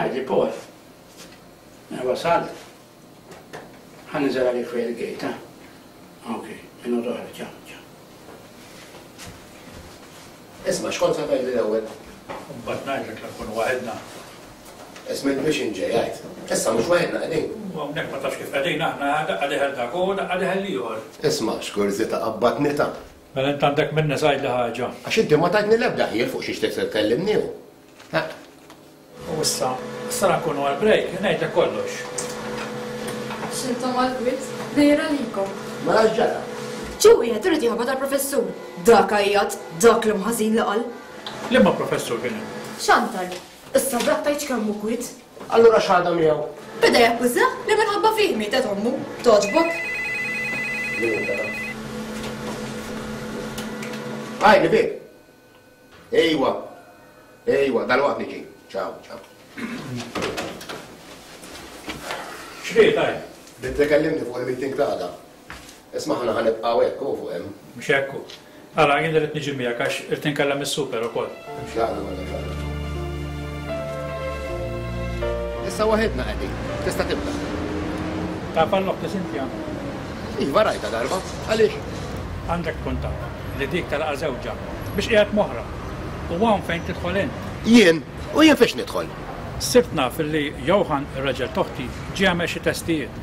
Għidli Paul. Mela wasalt? Ħa ninżel għalik fejn il-gate, ha? Ok, minuta oħra, ciao, ciao. Isma' x'kont se tgħidli l-ewwel? Imbagħad ngħidlek la nkunu waħedna. Isma' int biex int ġej għid. Issa mhux waħedna qegħdin. U hawnhekk ma tafx kif qegħdin aħna, daqqa dieħel dak u daqqa dieħel l-ieħor. Isma' x'kurżità qabbatni ta'. Mela int għandek min-nies għidli ħaġa. Għax inti ma tajtni l-ebda ħjiel fuq xiex trid tkellimni u. Ħa. U issa, issa la nkunu għall-break, ngħidlek kollox. X'intom għall-kwiet, dejra għalikom. Mela x'ġara? Ġie wieħed irid jaħbat għall-professur. Dak għajjat, dak l-imħażin li qal. Liema professur kien hemm? Chantal, Issa dak tgħidx kemm hu kwiet. Allura x'ħadha miegħu? Beda jakkużah li minħabba fih mietet ommu. Togħġbok? Min hu dan? Għidli, Vic! Ejwa. Ejwa, dalwaqt niġi. Ciao, ciao. X'ried għid? Bdiet tikellimni fuq il-meeting ta' għada. Isma' aħna ħa nibqgħu hekk hu fuq hemm. Mhux hekk hu. Ara, jien irrid niġi miegħek għax irrid inkellem is-super ukoll. X'għaqda mela x'għaqda. Issa waħedna qegħdin. Tista' tibda. Taf għal oħti Cynthia? Iva rajtha darba. Għaliex? Għandek tkun taf li dik telqa żewġha biex qiegħed moħra. U hawn fejn tidħol int. Jien? U jien fiex nidħol? Sirt naf li Johann ir-raġel t'oħti ġie jagħmel xi testijiet.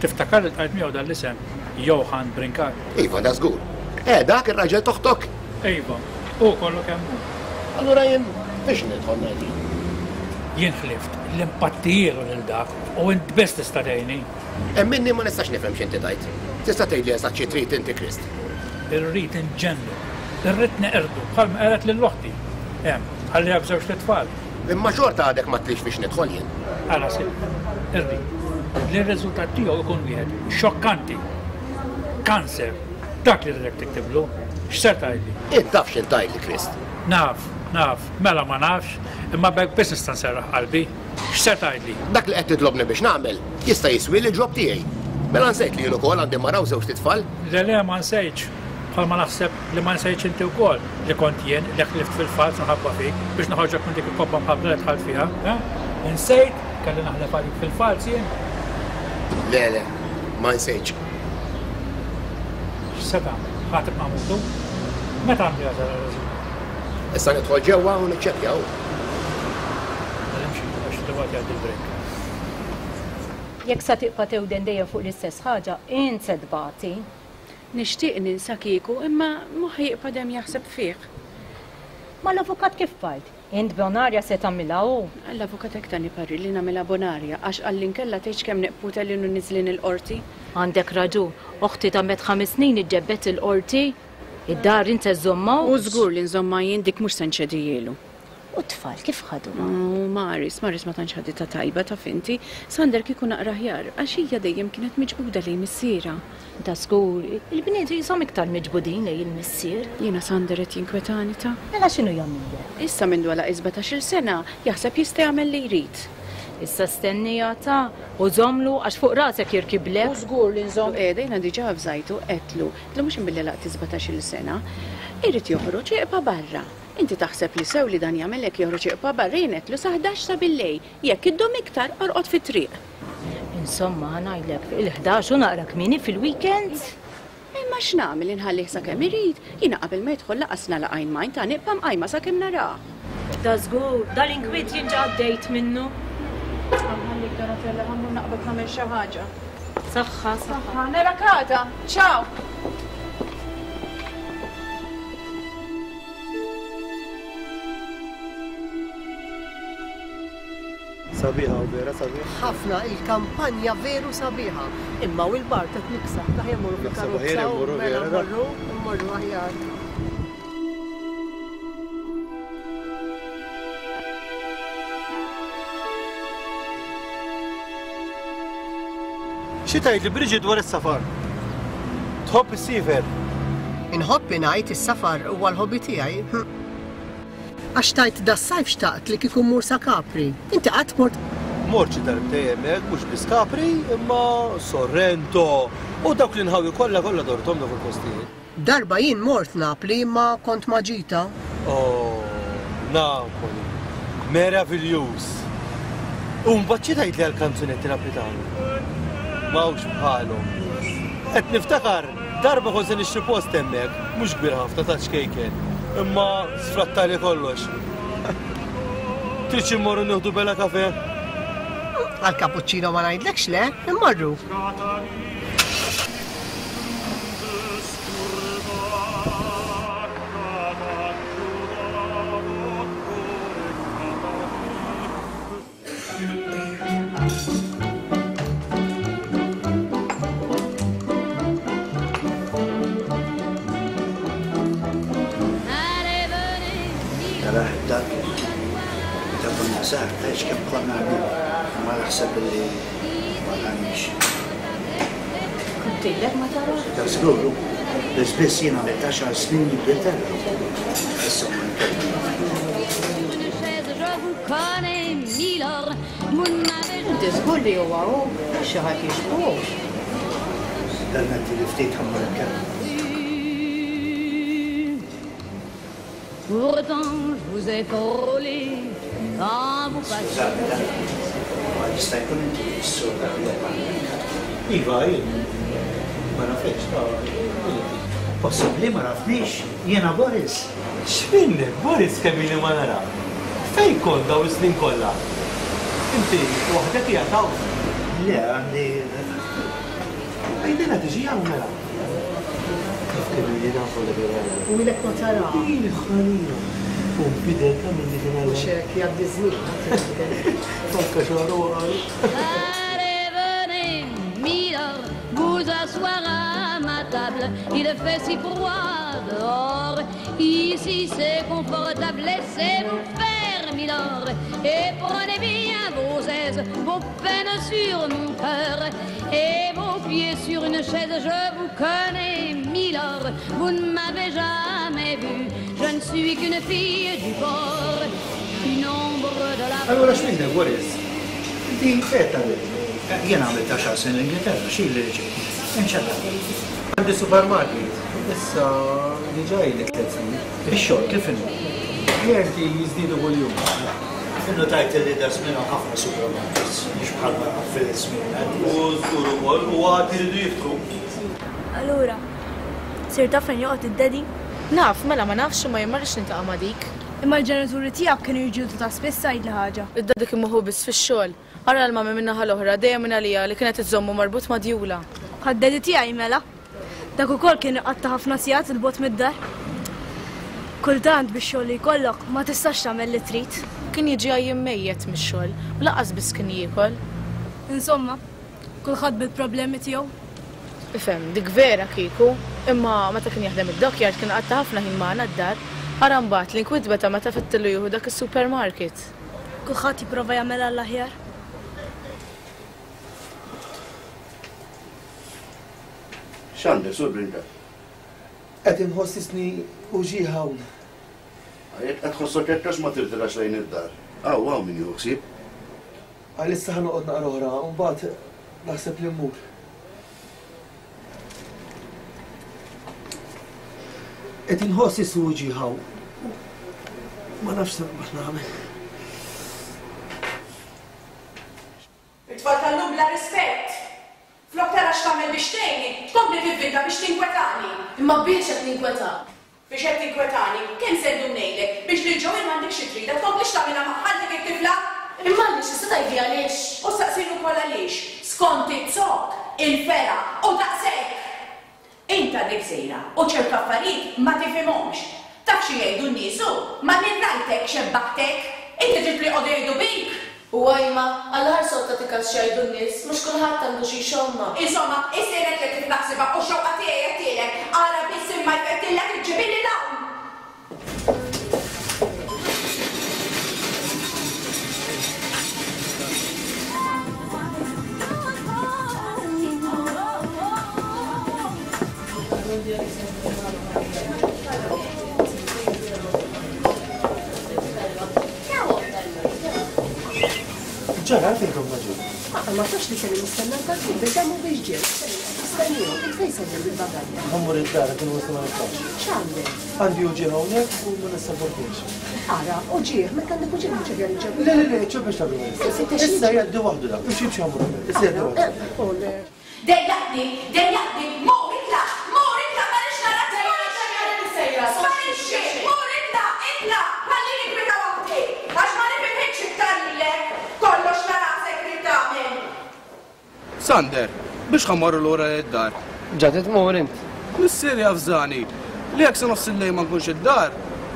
Tiftakar li ltqajt miegħu dan l-isem, Johann Brincat? Iva, da żgur. Eh, dak ir-raġel t'oħtok? Iva, hu kollu kemm hu. Allura jien fiex nidħol ngħidli? Jien ħlift li npattijielu lil dak u int biss tista' tgħinni. Emminni ma nistax nifhem x'inti tgħid. Tista' tgħidli eżatt xi trid inti Krist? Irrid inġennu. Irrid neqirdu bħalma qered lil oħti. Hemm, ħalliha b'żewġt itfal. Imma xorta għadek m'għedtlix fiex nidħol jien. Ara Silvia, irrid li r-riżultat tiegħu jkun wieħed xokkanti. Kanser. Dak li rridek tiktiblu. X'ser tgħidli? Int taf x'int tgħidli, Krist. Naf, naf, mela ma nafx, imma b'hekk biss nista' nserraħ qalbi. X'ser tgħidli? Dak li qed titlobni biex nagħmel jista' jiswieli l-ġob tiegħi. Mela nsejt li jien ukoll għandi mara u żewġt itfal? Le le ma nsejtx. Bħalma naħseb li ma nsejtx inti wkoll li kont jien li ħlift fil-falz minħabba fik biex noħorġok minn dik il-kobba mħabbla li dħalt fiha, eh? Insejt? Kelli naħlef għalik fil-falz jien? Le le, ma nsejtx. X'se tagħmel? Ħa tibqa' mutu? Meta għandu jasal ir-riżultat? Issa nidħol ġewwa u niċċekkja hu. Mela imxi, għax dalwaqt jgħaddi l-break. Jekk sa tibqa' tewden dejjem fuq l-istess ħaġa, int se tbati. Nixtieq ninsa kieku, imma moħħi jibqa' dejjem jaħseb fih. Mal-avukat kif bqajt? Int bonarja se tagħmilha hu? L-avukat hekk tani parir li nagħmilha bonarja, għax qalli nkella tgħidx kemm neqpu telgħin u niżlin il-qorti. Għandek raġun. Oħti damet ħames snin iġġebbed il-qorti. Id-dar int se żżommha U żgur li nżommha jien dik mhux se nċedihielu. U t-tfal kif ħaduha? U Maris, Maris ma tantx ħaditha tajba taf inti. Sander kieku naqra aħjar, għax hija dejjem kienet miġbuda lejn missierha. Da żgur, il-bniet qishom iktar miġbudin lejn il-missier. Jiena Sander qed jinkwetani ta. Mela x'inhu jagħmillek? Issa mindu għalaq is-sbatax-il sena, jaħseb jista' jagħmel li jrid. Issa stenniha ta, u żommlu għax fuq rasek jirkiblek. U żgur li nżomm. Qiegħda jiena diġà avżajtu, għedtlu, għedtlu mhux imbilli għalaqt is-sbatax-il sena. Irid joħroġ iqpa' barra. Inti taħseb li sew li dan jagħmel hekk joħroġ iqpa' barra jien għedtlu sa 11 ta' billejl, jekk iddum iktar orqod fit-triq. Insomma, ħa ngħidlek, il-11 u naqra kmieni fil-weekend. Imma x'nagħmel inħallih sakemm irid, jiena qabel ma jidħol lanqas nagħlaq għajn m'għajn ta' nibqa' mqajma sakemm narah. Da żgur, dal-inkwiet jien ġa għaddejt minnu. Ħa nħallik Donatella ħa mmur naqbad nagħmel xi ħaġa. Saħħa, saħħa. Narak għada. Ciao! Sabiħa u vera sabiħ. Ħafna il-kampanja veru sabiħa. Imma u l-bar qed niksaħ ta' jemmorru fil-karozza u mela mmorru, mmorru aħjar. Xi tgħidli Bridget dwar is-safar? Tħobb issiefer? Inħobb ingħid is-safar huwa l-hobby tiegħi. Għax tgħid das-sajf xtaqt li kieku mmur sa Capri. Inti qatt mort? Mort xi darbtej hemmhekk, mhux biss Capri, imma Sorrento u dawk l-inħawi kollha kollha dorthom dawk il-postijiet. Darba jien mort Napli imma kont ma' Ġita. Oh, Napoli. Meraviljuż. U mbagħad xi tgħidli għall-kanzunetti Naplitani? M'hawnx bħalhom. Qed niftakar darba kont se nixtri post hemmhekk, mhux kbir ħafna ta' ċkejken, imma sfrattali kollox. Tridx immorru nieħdu bella kafe? Għal cappuccino ma ngħidlekx le, immorru. Tarah dak meta konna żgħar tgħidx kemm konna ħbieb, imma naħseb li ma tgħannix. Kont ilek ma tarah? Ta' żgur, hu. Biss biss jien għamilt għaxar snin l-Ingilterra. Issa mmur inkellmu. Inti żgur li huwa hu, mhux xi ħadd jixbhu. Permetti li ftit ħa mmur inkellmu. Skużani dan, imma jista' jkun inti s-sur dak li qed hawnhekk? Iva, jien. Ma nafekx, ta' min inti? Possibbli ma rafnix? Jiena Boris. X'minnek, Boris kemm ili ma narak. Fejn kont dawn is-snin kollha? Inti waħdek qiegħed hawn? Le, għandi. Għidilha tiġi hawn mela. Taf kemm ili nafu li Mirella. U ilek ma taraha. Il-ħanina. U nbidel ta' milli kien għal. Mhux hekk jgħaddi ż-żmien ħadd jinbidel. Anke xagħru waqgħalu. Peine sur mon cœur et vos pieds sur une chaise. Je vous connais, Milord, vous ne m'avez jamais vu. Je ne suis qu'une fille du port, une ombre de la. Allura x'minnek, Boris? Inti fejn tgħallimt? Jien għamilt għaxar snin l-Ingilterra, x'ili li ġejt? Inċella. Għandi supermarket, issa diġà ili tliet snin. Ix-xogħol kif inhu? Klijenti jiżdiedu kuljum. Innutajt li daż-żmien hawn ħafna supermarkets, mhux bħalma fil-żmien U żgur ukoll, u għad iridu jiftħu. Allura, sirt taf fejn joqgħod id-daddy? Naf, mela ma nafx imma jien ma rridx niltaqa' ma' dik. Imma l-ġenituri tiegħek kienu jiġġieldu ta' spiss għidli ħaġa. Id-daddy kien moħħu biss fix-xogħol. Ara l-mummy min-naħa l-oħra dejjem mingħaliha li kienet iżżommu marbut ma' djula. Bħad-daddy tiegħi mela. Dak ukoll kien iqatta' ħafna sigħat 'il bogħod mid-dar. Kultant bix-xogħol li jkollok ma tistax tagħmel li trid. Kien jiġi għajjien mejjet mix-xogħol u lanqas biss kien jiekol. Insomma, kulħadd bil-problemi tiegħu. Ifhem, dik vera kieku, imma meta kien jaħdem id-dockyard kien iqatta' ħafna ħin magħna d-dar. Ara mbagħad l-inkwiet beda meta fettillu jieħu dak is-supermarket. Kulħadd jipprova jagħmel għall-aħjar. X'għandek, Sur Brincat? Qed inħoss isni uġigħ hawn. Jekk qed tħossok hekk għax ma tirtirax lejn id-dar? Hawn, hawn min jieħu ħsieb. Għalissa ħa noqgħod naqra oħra u mbagħad naħseb li mmur. Qed inħoss isni uġigħ hawn. Ma nafx se nagħmel. It-tfal tal-lum bla rispett! Flok tara x'tagħmel biex tgħinni, tkompli tivvinta biex tinkwetani! Imma biex qed ninkwetak? Biex qed tinkwetani? Kemm se ndum ngħidlek biex lil Joanne m'għandikx xi tridha tkomplix tagħmilha magħha dik it-tifla! Imma għaliex? Tista' tgħidli għaliex? U staqsini wkoll għaliex, skont iz-zokk, il-fergħa u daqshekk! Int għadek żgħira u ċertu affarijiet ma tifhimhomx. Taf xi jgħidu n-nies hu, ma min rajtek xebbaħtek? Inti trid li joqogħdu jgħidu bik? U ajma, għall-aħħar sod tagħti kas x'jgħidu n-nies, mhux kulħadd għandu xi jxommha. Insomma, issir għedtlek kif naħsibha u x-xewqa tiegħi għedtielek, ara biss imma jfettillek iġġibili 'l hawn! Ġara, għalfejn kom ma ġew? Ma ma tafx li kelli nistenna l-kalkun biex hemm u biex ġew. Stennihom, int fejn sejjer bil-bagalja? Ħa mmur id-dar, għad il-wisa ma nistax. X'għandek? Għandi uġigħ hawnhekk u ma nissaportix. Ara, uġigħ, meta għandek uġigħ mhux aħjar iċċebbel. Le, le, le, iċċebbel x'tagħmel issa. Issa jgħaddi waħdu dak, mhux jimxi għamru. Issa jgħaddi waħdu. Dejjaqtni, dejjaqtni, mur itlaq, mur itlaq ma rridx narak sparixxi, sparixxi, mur itlaq, itlaq, ħallini kwieta waħdi, għax ma nifilħikx iktar lilek, kollox ta' rasek trid tagħmel. Sander, biex ħa mmorru lura id-dar? Ġa trid tmur int? Missieri avżani li jekk sa nofs il-lejl ma nkunx id-dar,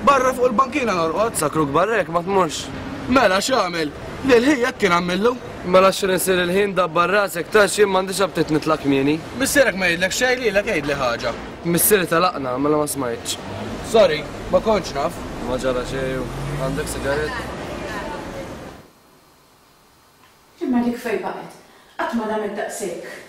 barra fuq il-bankina norqod. Sakruk barra jekk ma tmurx. Mela x'għamel? Lil ħija hekk kien għamillu. Mela x'ħin isir il-ħin dabbar rasek ta' jien m'għandix aptit nitlaq kmieni. Missierek ma jgħidlek xejn lilek għidli ħaġa. Missieri telaqna mela ma smajtx. Sorry, ma kontx naf. Ma ġara xejn u għandek sigarett? Imma dik fejn baqgħet? Qatt ma damet daqshekk.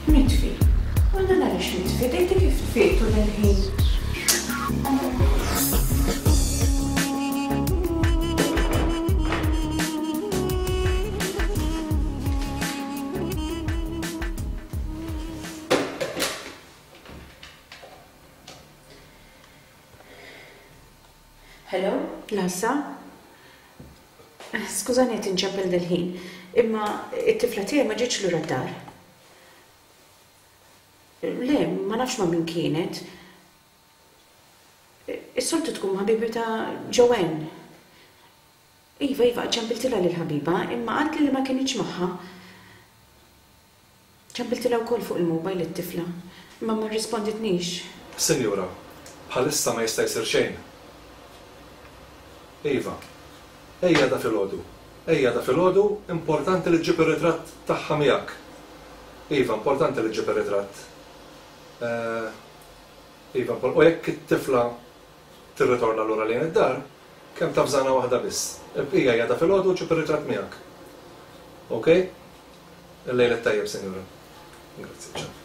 Mitfi. U dan għaliex mitfi? Dejti kif tfietu dal-ħin? Hello, Lassa? Skużani qed inċempel dal-ħin, imma t-tifla tiegħi ma ġietx lura d-dar. Le, ma nafx ma' min kienet. Is-soltu tkun ma' ħabibitha Joanne. Iva, iva, ċempiltilha lill-ħabiba, imma qaltli li ma kinitx magħha. Ċempiltilha wkoll fuq il-mobile it-tifla, imma ma rrisponditnix. Sinjura, bħalissa ma jista' jsir xejn. Iva. Ejja għada filgħodu. Ejja għada filgħodu, importanti li ġġib ir-ritratt tagħha miegħek. Iva, importanti li ġġib ir-ritratt. Eh, iva, u jekk it-tifla tirritorna lura lejn id-dar, kemm tavżana waħda biss. Il-bqija hija għada filgħodu u ġġib ir-ritratt miegħek. Ok? Il-lejl it-tajjeb, Sinjura. Grazzi, ciao.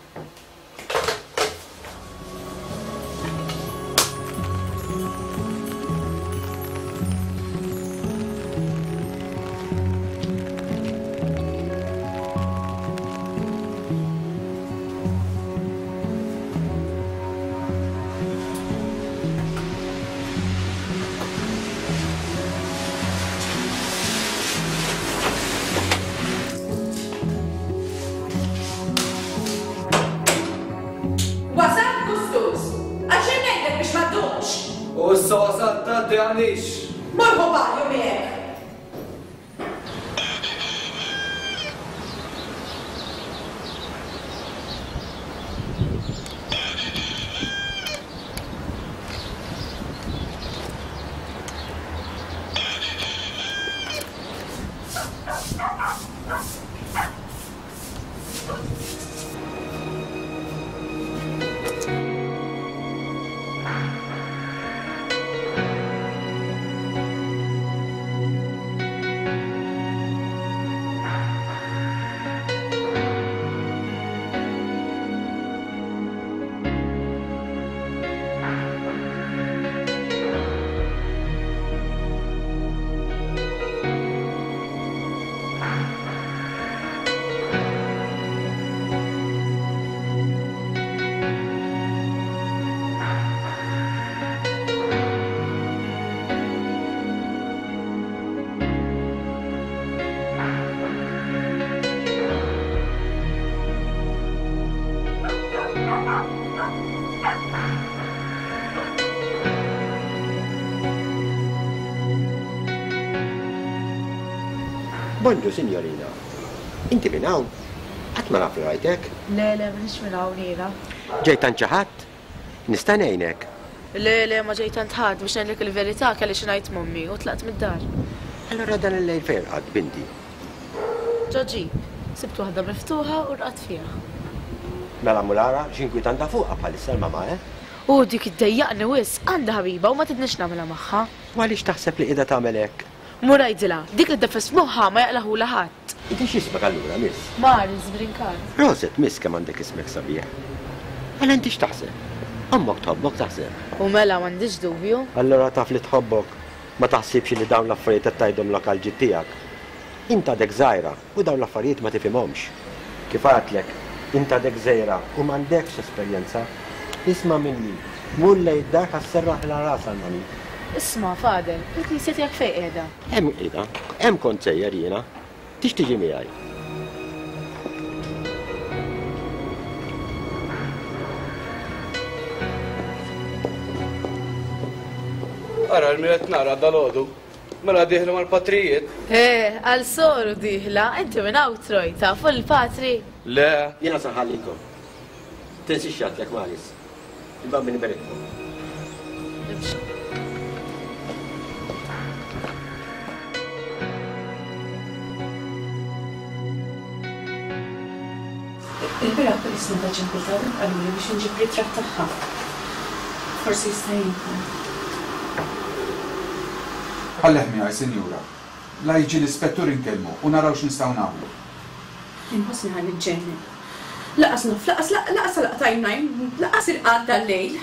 Wasalt gustuż! Għax jien ngħidlek biex ma ddumx! U issa wasalt tgħaddi għaliex? Mur ħu banju miegħek! Bonġu, sinjorina. Inti minn hawn? Qatt ma naf li rajtek. Le, le, m'iniex minn hawn jiena. Ġejt għand xi ħadd? Nista' ngħinek? Le, le, ma ġejt għand ħadd, biex ngħidlek il-verità kelli xi ngħid m'ommi u tlaqt mid-dar. Allura dan il-lejl fejn rqadt, binti? Ġo ġip. Sibt waħda miftuħa u rqadt fiha. Mela mur ara x'inkwiet għandha fuqha bħalissa l-mamà, eh? U dik iddejjaqni wisq, għandha ħabiba u ma tridnix nagħmilha magħha. U għaliex taħseb li qiegħda tagħmel hekk? Mur għidilha, dik li ddeffes f'moħħha ma jaqlagħhulha ħadd. Inti x'ismek allura, miss? Maris Brincat. Proset, miss kemm għandek ismek sabiħ. Mela inti x'taħseb? Ommok tħobbok taħseb? U mela m'għandix dubju. Allura taf li tħobbok. Ma taħsibx li dawn l-affarijiet qed tgħidhomlok għall-ġid tiegħek. Int għadek żgħira u dawn l-affarijiet ma tifhimhomx. Kif għedtlek, int għadek żgħira u m'għandekx esperjenza. Isma' minni, mur lejn id-dar ħa sserraħilha rasha l-mami. Isma', Fadel, il-knisja tiegħek fejn qiegħda? Hemm qiegħda. Hemm kont sejjer jiena. Tix tiġi miegħi? Ara l-min qed nara dalgħodu. Mela dieħla mal-patrijiet? Eh, għal soru dieħla, inti minn hawn Troy, tafu l-patri? Le. Jiena se nħallikom. Tinsiex x'għedtlek Maris. Il-Bambin iberikkom. Il-bieraħ police meta ċempiltha qaluli biex inġib ritratt tagħha. Forsi jista' jgħinkom. Ħallih miegħi, sinjura. La jiġi l-ispettur inkellmu u naraw x'nistgħu nagħmlu. Inħossni ħa niġġennen. Lanqas naf, lanqas lanqas għalaqt għajnejn, lanqas irqadt dal-lejl.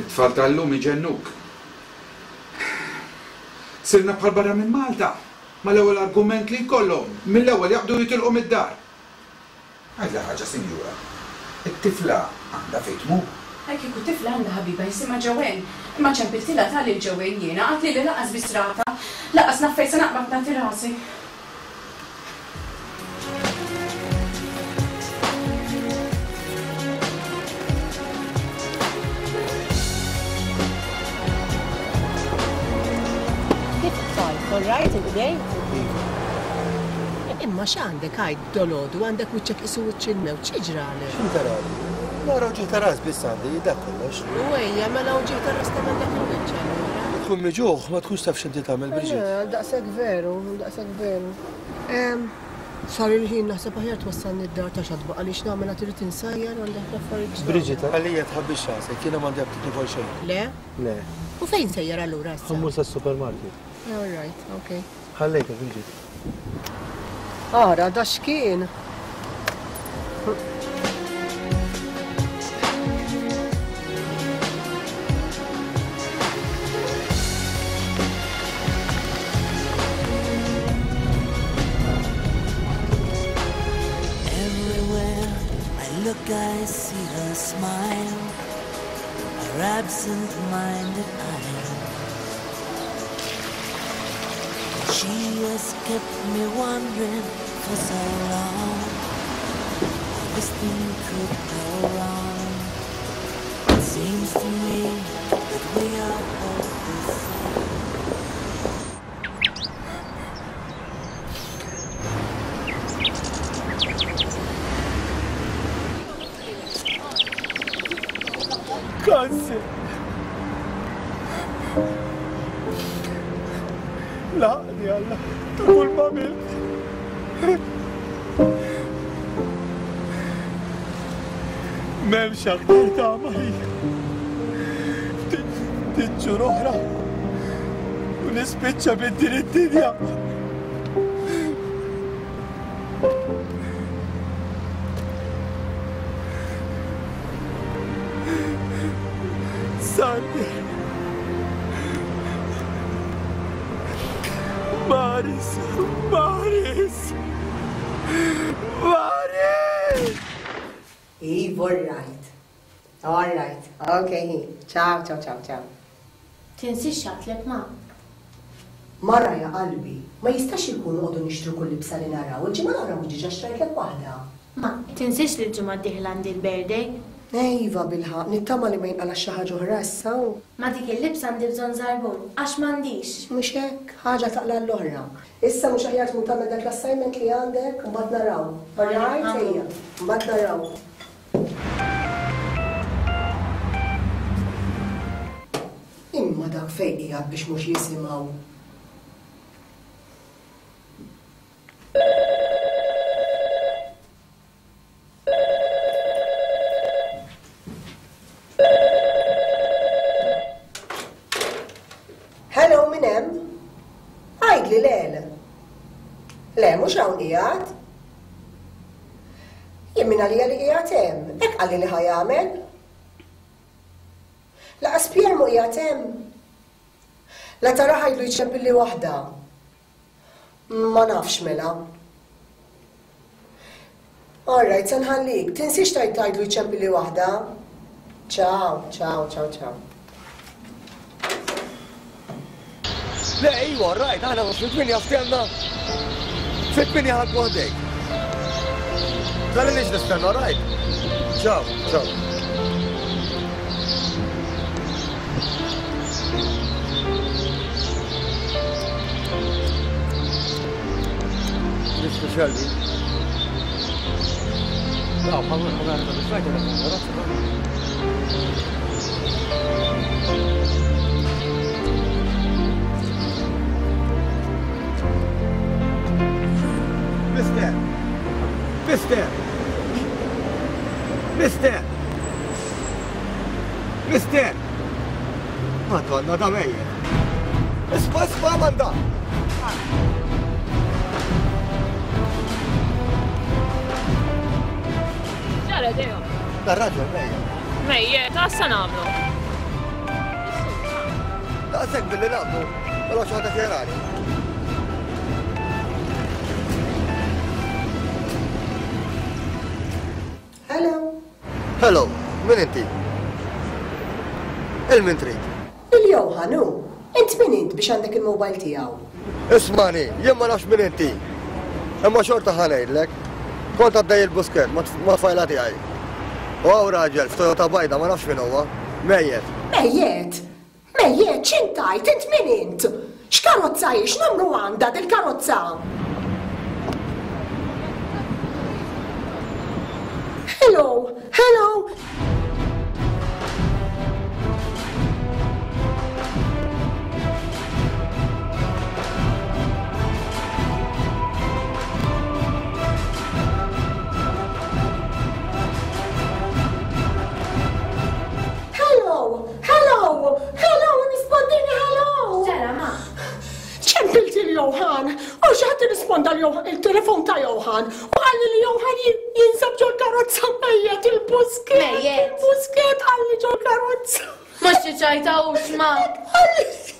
It-tfal tal-lum iġennuk. Sirna bħal barra minn Malta. Mal-ewwel argument li jkollhom, mill-ewwel jaqbdu jitilqu mid-dar. Għidli ħaġa, sinjura. It-tifla għandha fejn tmur? Hi kieku tifla għandha ħabiba jisimha Joanne. Imma ċempiltilha ta' lil Joanne jiena, qaltli li lanqas biss ratha. Lanqas naf fejn se naqbad nagħti rasi. Kif tfal, all right il-bdejt? Imma x'għandek għid dolodu għandek wiċċek qisu wiċċ il-mewt, xi ġralek? X'interali? Nara uġigħ ta' ras biss għandi, dak kollox. U ejja, mela uġigħ ta' ras tagħmel dak il-wiċċ allura. Tkun miġugħ, ma tkunx taf x'inti tagħmel, Brigitte. Eh, daqshekk veru, daqshekk veru. Sar il-ħin naħseb aħjar twassalni d-dar ta' xatba għaliex nagħmel għad irid insajjar għandi ħafna affarijiet. Brigitte, għalija tħabbix rasek, jiena m'għandi aptit nikol xejn. Le? Le. U fejn sejjer allura issa? Ħa mmur sas-supermarket. All right, okay. Ħallejtek, Brigitte. Ara, da x'kien! Everywhere I look I see her smile Her absent-minded eyes She has kept me wondering for so long How this thing could go wrong It seems to me that we are both the same Kanser. Laqni Alla ta' kull ma għamilt. M'hemmx aktar tama ħija. Ftit xhur oħra u nispiċċa minn din id-dinja. Sandy. Maris, Maris, Maris! Iva, all right. All right. Okay. Ciao, ciao, ciao, ciao. Tinsiex x'għedtlek ma. Mara ja qalbi, ma jistax ikun noqogħdu nixtru kull libsa li naraw, il-ġimgħa l-oħra mhux diġà xtrajtlek waħda. Ma, tinsiex li l-ġimgħa d-dieħla għandi l-birthday. Iva bilħaqq, nittama li ma jinqalax xi ħaġa oħra issa. Ma' dik il-libsa għandi bżonn żarbun, għax m'għandix. Mhux hekk, ħaġa taqla' l-oħra. Issa mhux aħjar tmur tagħmel dak l-assignment li għandek, imbagħad naraw. All right, ejja, imbagħad naraw. Imma dak fejn qiegħed biex mhux jisimgħu? Hello, min hemm? Għidli le. Le, mhux hawn qiegħed. Jien min għalija li qiegħed hemm, hekk qalli li ħa jagħmel. Laqas Pierre mhu qiegħed hemm. La tara ħajlu jċempilli waħda. Ma nafx mela. All right, se nħallik. Tinsiex tgħid tgħidlu jċempilli waħda. Ciao, ciao, ciao, ciao. Le, iwa, rajt, aħna mhux fit-tmienja ftehemna. Fit-tmienja ħa nkun ħdejk. Tħallinix nistenna, rajt? Ciao, ciao. Mr. Shelby. No, Mister! Mister! Mister! Mister! Madonna, da mejjet. Isma, isma, Amanda! Ġara, Deo. Dar-raġel mejjet. Mejjet, għassa nagħmlu. Daqshekk billi naqbdu, però xi ħadd jarani. Hello. Hello, min inti? Il-min trid? Il-Johan hu. Int min int biex għandek il-mobile tiegħu? Ismani, jien ma nafx min inti. Imma xorta ħa ngħidlek. Kont għaddej il-Buskett ma' tfajla tiegħi. U hawn raġel f'Toyota bajda ma nafx min huwa. Mejjet. Mejjet? Mejjet, x'int tgħid? Int min int? X'karozza hi? X'numru għandha dil-karozza? Hello! Hello! Hello! Hello! Hello! Rispondini hello! Ġara ma. Ċempilt il-Johan! U xi ħadd irrisponda il-telefon ta' Johan u qalli li Johan jinsab ġol karozza mejjet il-busket. Mejjet. Il-busket qalli ġol karozza. Mhux xi ċajta hux ma.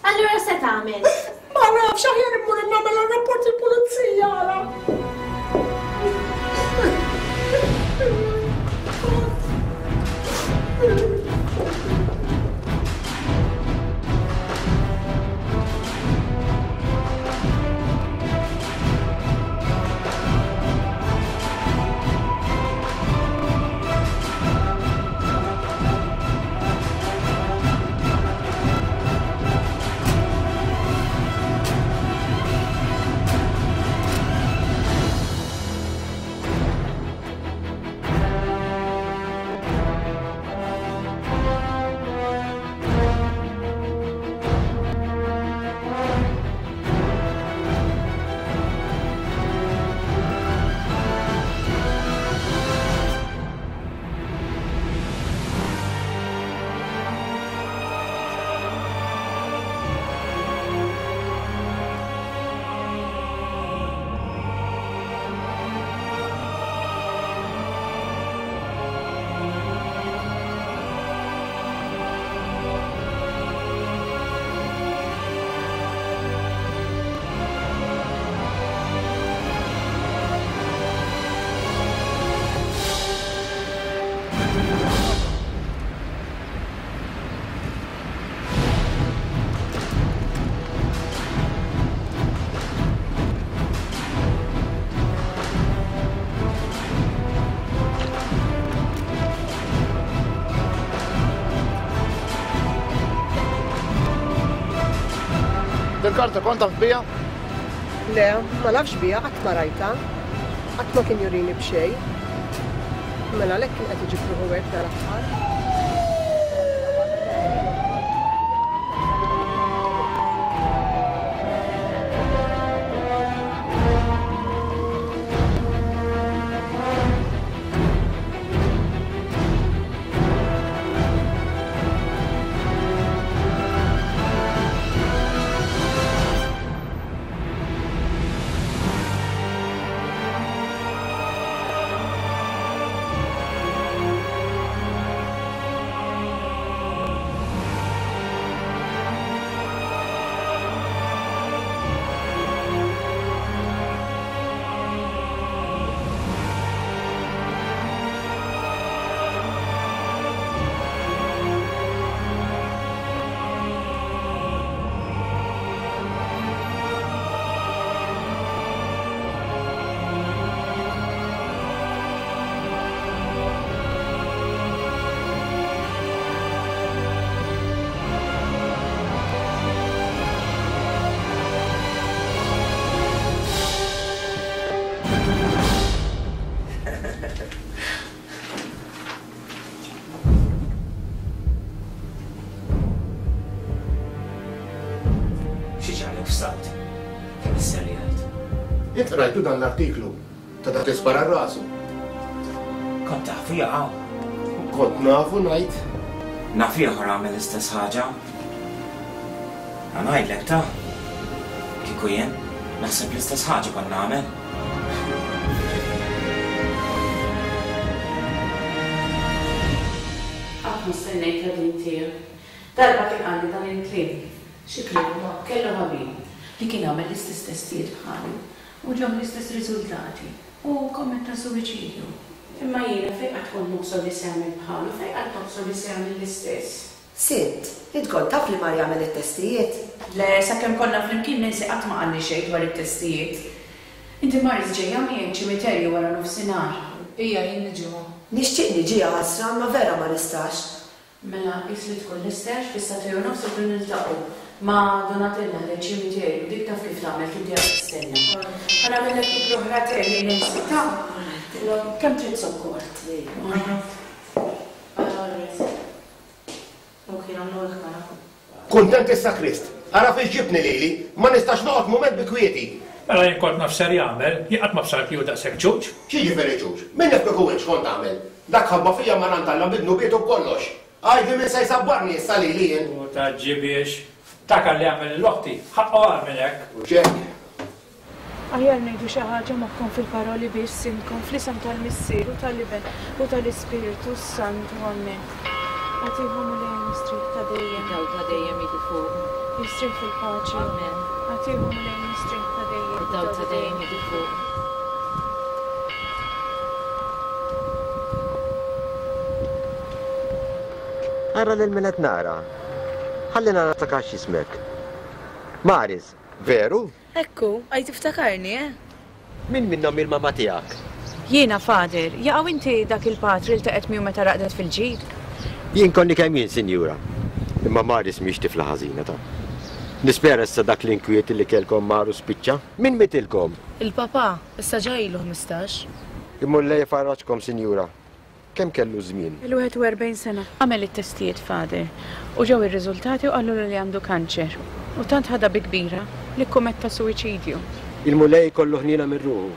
Allura se tagħmel? Ma nafx aħjar immur nagħmel rapport il-pulizija għala. Dil-karta kont taf biha? Le, ma nafx biha, qatt ma rajtha. Qatt ma kien jurini b'xejn. Mela għalhekk kien qed iġib ruħu hekk dal-aħħar. Xi ġralek f'salt? Kemm isserjajt? Int qrajtu dan l-artiklu ta' dak li spara rasu? Kont tafu jaqaw. Kont nafu ngħid. Naf ieħor għamel l-istess ħaġa. Ħa ngħidlek ta'. Kieku jien, naħseb l-istess ħaġa kont nagħmel. Qatt ma stennejtha din tiegħek. Darba kien qalli dan il-kliem. Xi kliem ma? Kellu ħabib li kien għamel l-istess testijiet bħalu u ġew l-istess riżultati u kkommetta suwiċidju. Imma jiena fejn qatt kont nobsor li se jagħmel bħalu, fejn qatt nobsor li se jagħmel l-istess? Sidt, int kont taf li mar jagħmel it-testijiet? Le, sakemm konna flimkien Nancy qatt ma qalli xejn dwar it-testijiet. Inti Maris ġejja miegħi ċ-ċimiterju wara nofsinhar? Ija, jien niġi ma. Nixtieq niġi jaħasra imma vera ma nistax. Mela qis li tkun lesta għax fis-sagħtej u nofs irridu niltaqgħu ma' Donatella ħdejn ċimiterju, dik taf kif tagħmel tibdieha tistenna. Ħa nagħmillek kibbra oħra te lil Nancy ta? Kemm trid zokkor? Ok, nagħmlu hekk mela. Kuntent issa Krist? Ara fiex ġibtni lili, ma nistax noqgħod mument bi kwieti. Mela jien kont naf x'ser jagħmel, jien qatt ma bsart li hu daqshekk ċuċ. X'jiġifieri ċuċ? Min jaf kieku int x'kont tagħmel? Dak ħabba fija mar għand Alla bi dnubietu b'kollox. Għidli min se jsabbarni issa lili jien? U tgħaġġibhiex. Dak li għamel lil oħti, ħaqqu agħar minn hekk. Hux hekk? Aħjar ngħidu xi ħaġa magħkom fil-paroli biss intkom, fl-isem tal-Missier u tal-Iben u tal-Ispirtu s-Santu. Ammen. Agħtihu Mulej mistrieħ ta' dejjem. Id-dawl ta' dejjem jiddi fuqu. Jistrieħ fil-paċi. Ammen. Agħtihu Mulej mistrieħ ta' dejjem. Id-dawl ta' dejjem jiddi fuqu. Ara lil min qed nara. Ħalli nara niftakar x'jismek. Maris, veru? Hekk hu, għaj tiftakarni, eh? Min minnhom hi l-mamà tiegħek? Jiena, Father. Jaqaw inti dak il-patri ltaqgħet miegħu meta raqdet fil-ġid? Jien konni kemm jien, sinjura. Imma Maris mhix tifla ħażina, ta. Nispera issa dak l-inkwiet li kellkom mar u spiċċa. Min mitilkom? Il-papà, issa ġa ilu 15. Il-Mulej ifarraġkom, sinjura. Kemm kellu żmien? Kellu 41 sena. Għamel it-testijiet Father u ġew ir-riżultati u qalulu li għandu kanċer u tant ħadha bi kbira li kkumetta suwiċidju. Il-Mulej ikollu ħniena minn ruħu.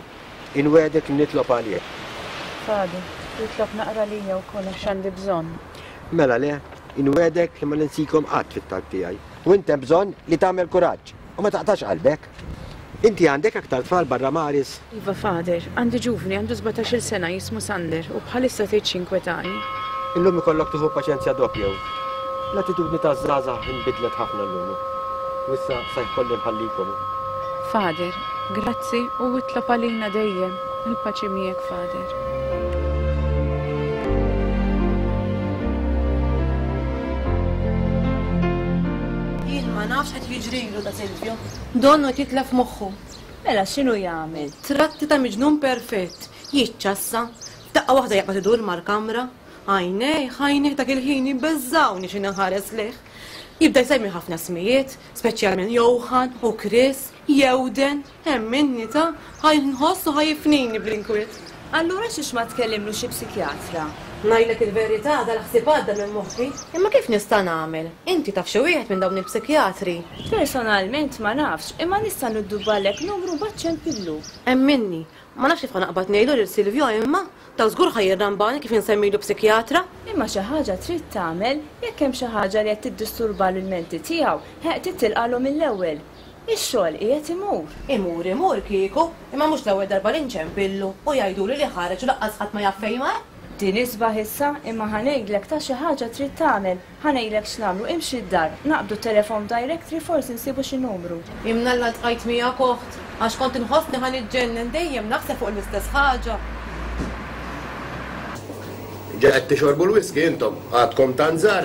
Inwegħdek li nitlob għalih. Father, itlob naqra għalija wkoll għax għandi bżonn. Mela le, inwegħdek li ma ninsikom qatt fit-talb tiegħi. U int hemm bżonn li tagħmel kuraġġ u ma taqtax qalbek. Inti għandek aktar tfal barra Maris? Iva Father, għandi ġuvni għandu sbatax-il sena jismu Sander u bħalissa tgħid x'jinkwetani. Illum ikollok tieħu paċenzja doppja. L-attitudni taż-żgħażagħ inbidlet ħafna llum. U issa sa jkolli nħallikom. Father, grazzi u itlob għalina dejjem. Il-paċi miegħek Father. Jien ma nafx qed jiġrilu da Silvio. Donnu qed jitlef moħħu. Mela x'inhu jagħmel? Tratti ta' miġnun perfett. Jiċċassa. F'daqqa waħda jaqbad idur mal-kamra. Għajnejh, għajnejh dak il-ħin jbeżżgħuni xi nħares lejh. Jibda jsemmi ħafna ismijiet, speċjalment Johan u Chris, Jewden, emminni ta, ħa nħoss u ħa jifnini bl-inkwiet. Allura xiex ma tkellimlu xi psikjatra? Ngħidlek il-verità dal-ħsieb għadda minn moħħi. Imma kif nista' nagħmel? Inti taf xi wieħed minn dawn il-psikjatri? Personalment ma nafx, imma nista' niddubbalek numru mbagħad ċempillu. Emminni, ma nafx kif ħa naqbad ngħidlu lil Silvio imma Daw żgur ħa jirrambani kif insemmilu psikjatra. Imma xi ħaġa trid tagħmel, jekk hemm xi ħaġa li qed tiddisturbalu l-menti tiegħu, ħeq trid tilqagħlu mill-ewwel. Ix-xogħol qiegħed imur. Imur imur kieku, imma mhux l-ewwel darba li nċempillu u jgħiduli li ħareġ u laqqas ħadd ma jaf fejn mar. Din isbaħ issa, imma ħa ngħidlek ta' xi ħaġa trid tagħmel. Ħa ngħidlek x'nagħmlu, imxi d-dar, naqbdu t-telefon directory forsi nsibu xi numru. Imnalla ltqajt miegħek oħt, għax kont inħossni ħa niġġennen dejjem naħseb fuq l-istess ħaġa. Ġa qed tixorbu l-whisky intom, għadkom tant żgħar.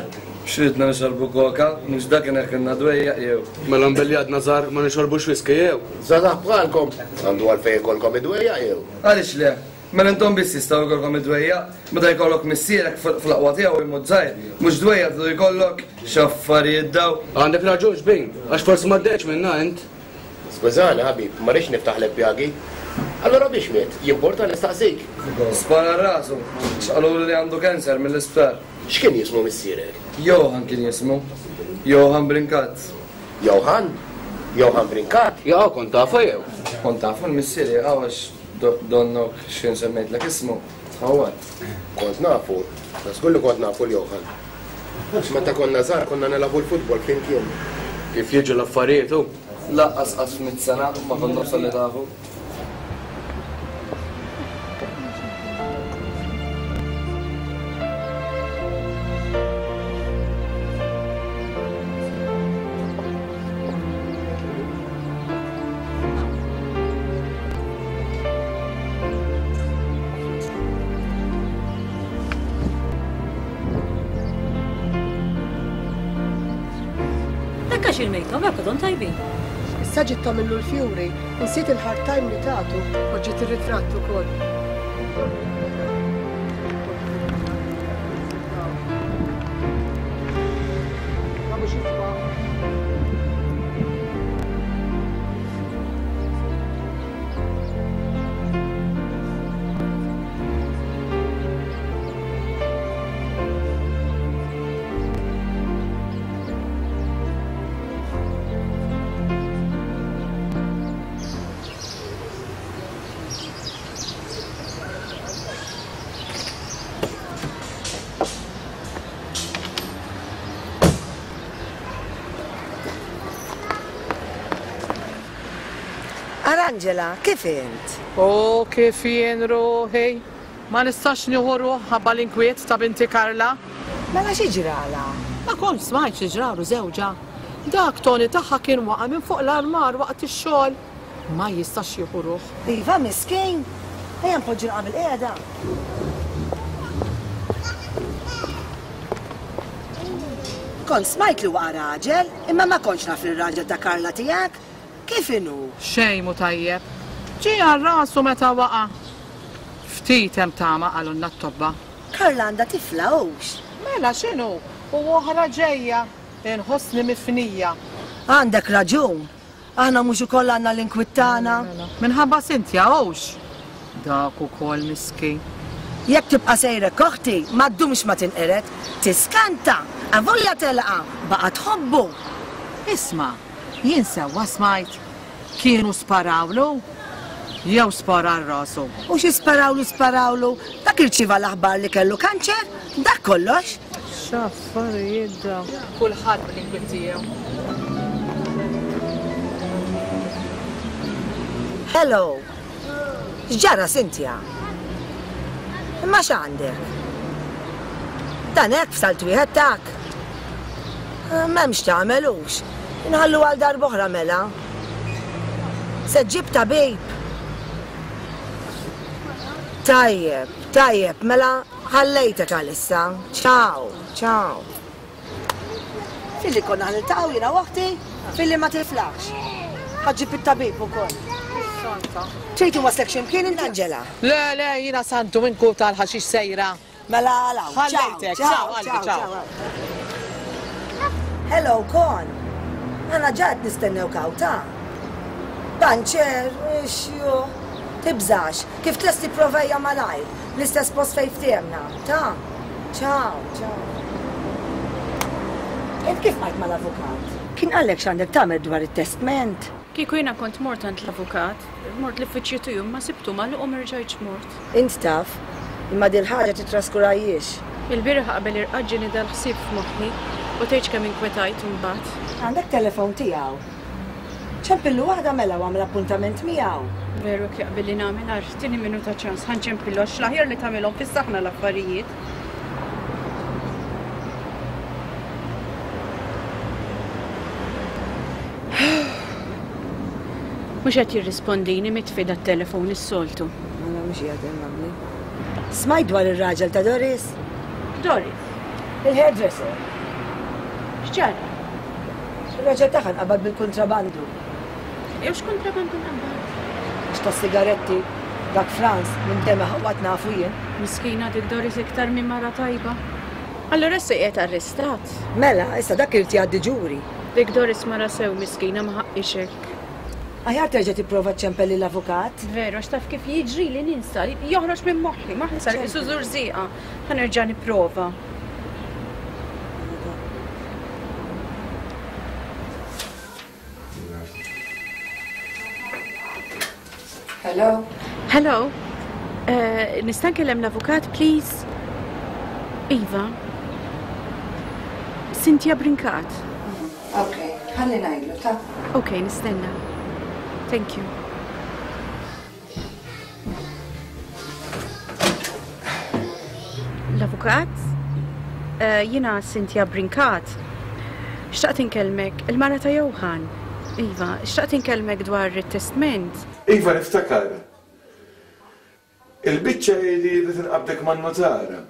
X'ridna nixorbu koka, mhux dak ineħħilna dwejjaq jew? Mela mbelli għadna żgħar ma nixorbux whisky jew? Żgħażagħ bħalkom, għandu għalfejn ikollkom id-dwejjaq jew? Għaliex le? Mela intom biss jistgħu jkollkom id-dwejjaq? Meta jkollok missierek fl-aqwa tiegħu jmut żgħir, mhux dwejjaq tridu jkollok? X'affarijiet daw! Għandek raġun xbin, għax forsi m'għaddejtx minnha int. Skużani ħabib, ma rridx niftaħlek pjagi. Allura biex miet? Jimporta nistaqsik? Spara rasu, għax qalulu li għandu cancer mill-isptar. X'kien jismu missierek? Johann kien jismu. Johann Brincat. Johann? Johann Brincat? Jaqaw kont tafu jew? Kont tafu l-missieri jaqaw għax donnok x'kien semmejtlek ismu, tħawwadt. Kont nafu, ta' żgur li kont nafu 'l Johann. Meta konna żgħar konna nilagħbu l-futbol flimkien. Kif jiġu l-affarijiet hu? Lanqas qatt f'mitt sena ma kont nobsor li tafu. Hekk għax irmejthom hekk għadhom tajbin. Issa ġiet tagħmillu l-fjuri, insiet il-hard time li tatu u ġiet ir-ritratt ukoll. Arangela, kif int? O kif jien ruħi! Ma nistax nieħu ruħ ħabba l-inkwiet ta' binti Karla. Mela xi ġralha? Ma kontx smajt xi ġralu żewġha. Dak Tony tagħha kien waqa' minn fuq l-armar waqt ix-xogħol. Ma jistax jieħu ruħ. Iva, miskin! Ejja npoġġu naqra bil-qiegħda. Kont smajt li waqa' raġel, imma ma kontx naf li r-raġel ta' Karla tiegħek. Kif inhu? Xejn mhu tajjeb. Ġie għal rasu meta waqa'. Ftit hemm tama qalulna t-tobba. Karla għandha tifla hux? Mela x'inhu? U oħra ġejja. Inħossni mifnija. Għandek raġun. Aħna mhux ukoll għandna l-inkwiet tagħna? Minħabba Cynthia hux? Dak ukoll miskin. Jekk tibqa' sejrek oħti, ma ddumx ma tinqered. Tiskanta! Avolja telqa, baqgħet tħobbu. Isma', jien sewwa smajt? Kienu sparawlu? Jew spara għal rasu? U xi sparawlu sparawlu? Dak irċieva l-aħbar li kellu kanċer, dak kollox. X'affarijiet dawn! Kulħadd bl-inkwiet tiegħu. Hello! X'ġara Cynthia? Imma x'għandek? Dan hekk f'salt wieħed tak? M'hemmx tagħmel hux. Inħallu għal darb'oħra mela. Se ġġib tabib? Tajjeb, tajjeb, mela ħallejtek għalissa. Ciao, ciao. Filli konna ħa niltaqgħu jiena u oħti, filli ma tiflaħx. Ħa ġġib it-tabib ukoll. Trid inwasslek xi mkien int Angela? Le, le, jiena Santu minn Kut għall-ħaxix sejra. Mela għal hawn. Ħallejtek, ciao qalbi, ciao. Hello, Kon. Aħna ġa qed nistennewk hawn, ta. Panċer, ixju. Tibżax, kif tlesti prova ejja malajr, l-istess post fejn ftehemna, ta. Ciao, ciao. Int kif bqajt mal-avukat? Kien qallek x'għandek tagħmel dwar it-testment? Kieku jiena kont mort għand l-avukat, mort l-uffiċċju tiegħu imma sibtu magħluq u m'erġajtx mort. Int taf, imma dil-ħaġa tittraskurahiex. Il-bieraħ qabel irqadt ġieni dal-ħsieb f'moħħi u tgħidx kemm inkwetajt imbagħad. Għandek telefon tiegħu? Ċempillu waħda mela u agħmel appuntament miegħu. Veru hekk jaqbilli nagħmel, ara, tini minuta ċans, ħa nċempillu għax l-aħjar li tagħmilhom fis-saħna l-affarijiet. Mhux qed jirrispondini mitfi dat-telefon is-soltu. Mela mhux qiegħed hemm għamli. Smajt dwar ir-raġel ta' Doris? Doris? Il-hairdresser. X'ġara? Ir-raġel tagħha nqabad bil-kuntrabandu. Jew x'kuntrabandu nqabad? Mhux tas-sigaretti. Dak Franz, minn kemm iħawwad nafu jien. Miskina dik Doris iktar mhi mara tajba. Allura issa qiegħed arrestat? Mela, issa dak irid jgħaddi ġuri. Dik Doris mara sew miskina ma ħaqqhiex hekk. Aħjar terġa' tipprova ċċempel lill-avukat. Veru, għax taf kif jiġrili ninsa, joħroġ minn moħħi, moħħi sar qisu żurżieqa. Ħa nerġa' nipprova. Hello? Hello? Eh, nista' nkellem l-avukat, please? Iva. Cynthia Brincat. Ok, ħalli ngħidlu, ta. Ok, nistenna. Thank you. L-avukat? Eh, Jiena Cynthia Brincat. Xtaqt inkellmek, il-mara ta' Johan. Iva, xtaqt inkellmek dwar it-testment. Iva niftakar. Il-biċċa hi li rrid inqabbdek man-nutar.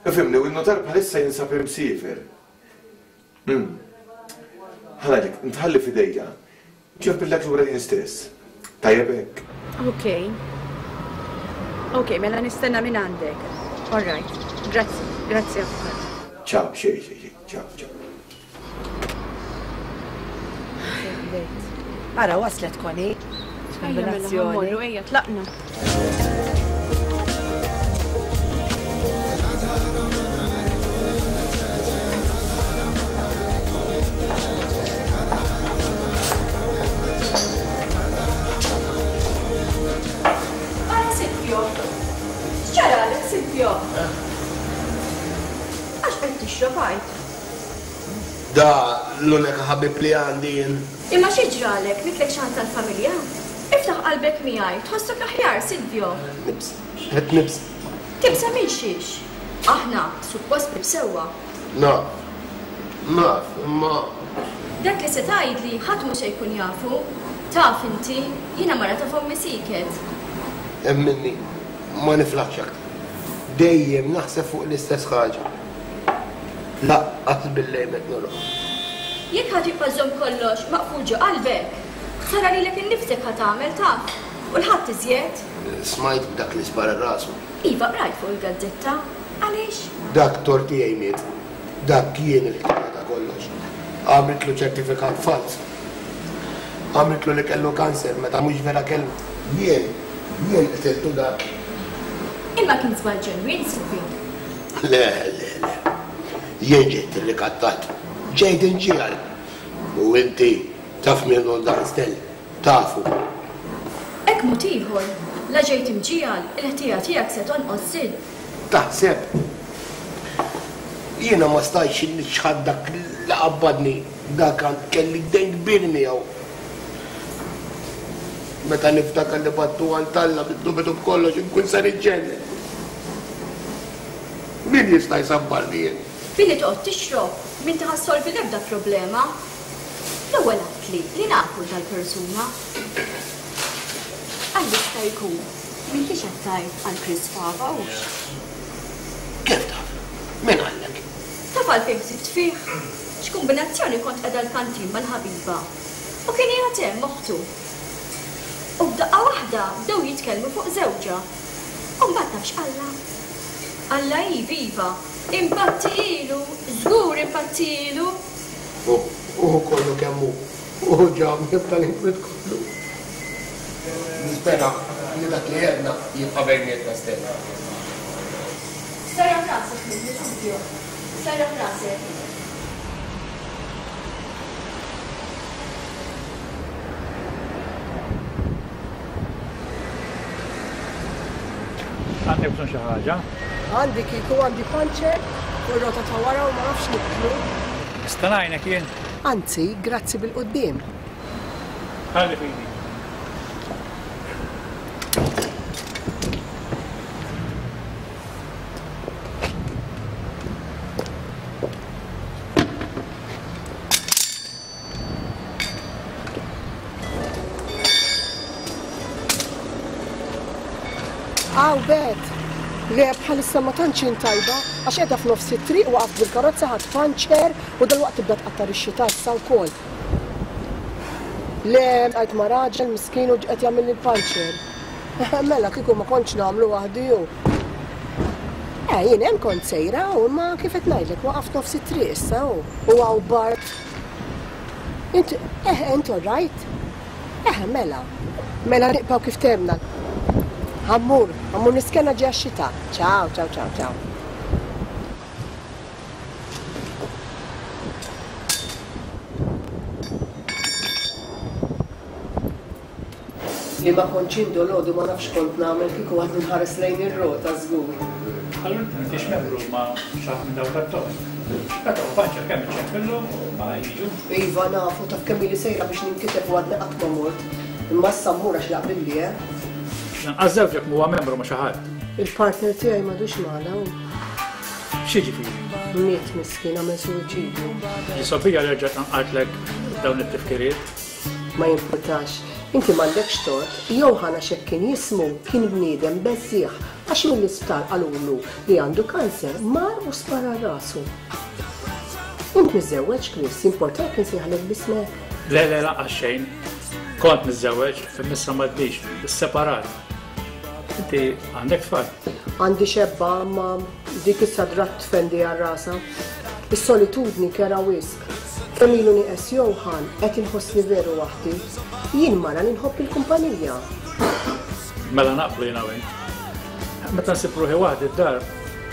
Ifhimni, u n-nutar bħalissa jinsab imsiefer. Umm. Ħa ngħidlek, ntħalli f'idejja. Nċempillek lura jien stess. Tajjeb hekk? Ok. Ok, mela nistenna minn għandek. All right. Grazzi, grazzi avukat. Ciao, xejn, xejn, xejn. Ciao, ciao. Ara waslet Connie. Ejja mela ħa mmorru, ejja tlaqna. Ara Silvio! X'ġaralek Silvio? Għax qed tixrob għid? Da l-unika ħabib li għandi jien. Imma xi ġralek, mitlek xi ħadd tal-familja? Iftaħ qalbek miegħi, tħossok aħjar, Silvio. Nibża', qed nibża'. Tibża' minn xiex? Aħna, suppost ħbieb sewwa. Naf, naf, imma. Dak li se tgħidli ħadd mhu se jkun jafu. Taf inti, jiena mara ta' fommi sieket. Emminni, ma niflaħx aktar. Dejjem naħseb fuq l-istess ħaġa. Lanqas bil-lejl qed norqod. Jekk ħa tibqa' żżomm kollox maqful ġo qalbek, ħsara lilek innifsek ħa tagħmel taf, u 'l ħadd iżjed. Smajt b'dak li spara rasu? Iva qrajt fuq il-gazzetta. Għaliex? Dak tort tiegħi miet. Dak jien il-ħtija ta' kollox. Għamiltlu ċertifikat falz. Għamiltlu li kellu kanser meta mhux vera kellu. Jien, jien qtiltu dak. Imma kien żball ġenwin, Silvio. Le, le, le. Jien ġejt irrikattat. Ġejt inġiegħel. U inti taf min hu dan Stell. Tafu. Hekk mod ieħor, la ġejt imġiegħel, il-ħtija tiegħek se tonqos Sid. Taħseb? Jiena ma stajtx niċħad dak li qabbadni. Dak kelli dejn kbir miegħu. Meta niftakar li battu għand Alla bid-dubju b'kollox inkun se niġġennen. Min jista' jsabbarni jien? Billi toqgħod tixrob, m'inti ħa ssolvi l-ebda problema. L-ewwel għidtli li nafu 'l dal-persuna. Għal jista' jkun, m'intix qed tgħid għal Chris Fava hux? Kif taf? Min qallek? Taf għalfejn ħsibt fih? X'kumbinazzjoni kont qiegħda l-kantin mal-ħabiba u kien qiegħed hemm oħtu. U f'daqqa waħda bdew jitkellmu fuq żewġha. U mbagħad taf x'qallha? Qallha iva, iva, impattilu, żgur impattilu! Hu kollu kemm hu. Hu ġabni f'dal-inkwiet kollu. Nispera li dak li għedna jibqa' bejnietna Stella. Serraħ rasek minni, Silvio. Serraħ rasek. Għandek bżonn xi ħaġa? Għandi kieku għandi panċer fuq ir-rota ta' wara u ma nafx nibdlu. Nista' ngħinek jien? Anzi, grazzi bil-quddiem. Ħalli f'idi. Aw Bet! Le bħalissa ma tantx jien tajba għax qiegħda f'nofs it-triq waqaft bil-karozza ħadt panċer u dalwaqt tibda tqattar ix-xita issa wkoll. Le ltqajt ma' raġel miskin u qed jagħmilli l-panċer. Mela kieku ma kontx nagħmlu waħdi hu. Eh jien hemm kont sejra u imma kif qed ngħidlek waqaft nofs it-triq issa hu u hawn bart. Int, eh, int all right? Eh, mela. Mela nibqgħu kif temna. Ħa mmur, ħa mmur niskenna ġejja x-xita. Ciao, ciao, ciao, ciao. Li ma kontx jien dolodu ma nafx x'kont nagħmel kieku għadni nħares lejn ir-rota żgur. Allura inti m'intix membru ma' xi ħadd minn dawk tat-toroq. Meta hu panċer kemm iċċempillu u ma jiġu. Iva nafu, taf kemm ili sejra biex ninkiteb u għadni qatt ma mort. Imma issa mmur għax jaqbilli, eh. Lanqas żewġek m'huwa membru ma' xi ħadd. Il-partner tiegħi m'għadux magħna hu. X'jiġifieri? Miet miskin għamel suwiċidju. Jisgħobija li erġa' tqanqaltlek dawn it-tifkiriet. Ma jimpurtax. Inti m'għandekx tort. Johann għax hekk kien jismu, kien bniedem beżżiegħ għax mill-isptar qalulu li għandu kanser, mar u spara rasu. Int miżżewweġ, Chris, jimportak insejħlek b'ismek? Le, le, lanqas xejn. Kont miżżewweġ, imma issa m'għadnix, isseparat. Inti għandek tfal? Għandi xebba, imma dik issa drat tfendi għal rasha. Is-solitudni kerha wisq. Kemm ilu nieqes Johann, qed inħossni veru waħdi. Jien mara li nħobb il-kumpanija. Mela naqblu jiena u int. Meta nsib ruħi waħdi d-dar,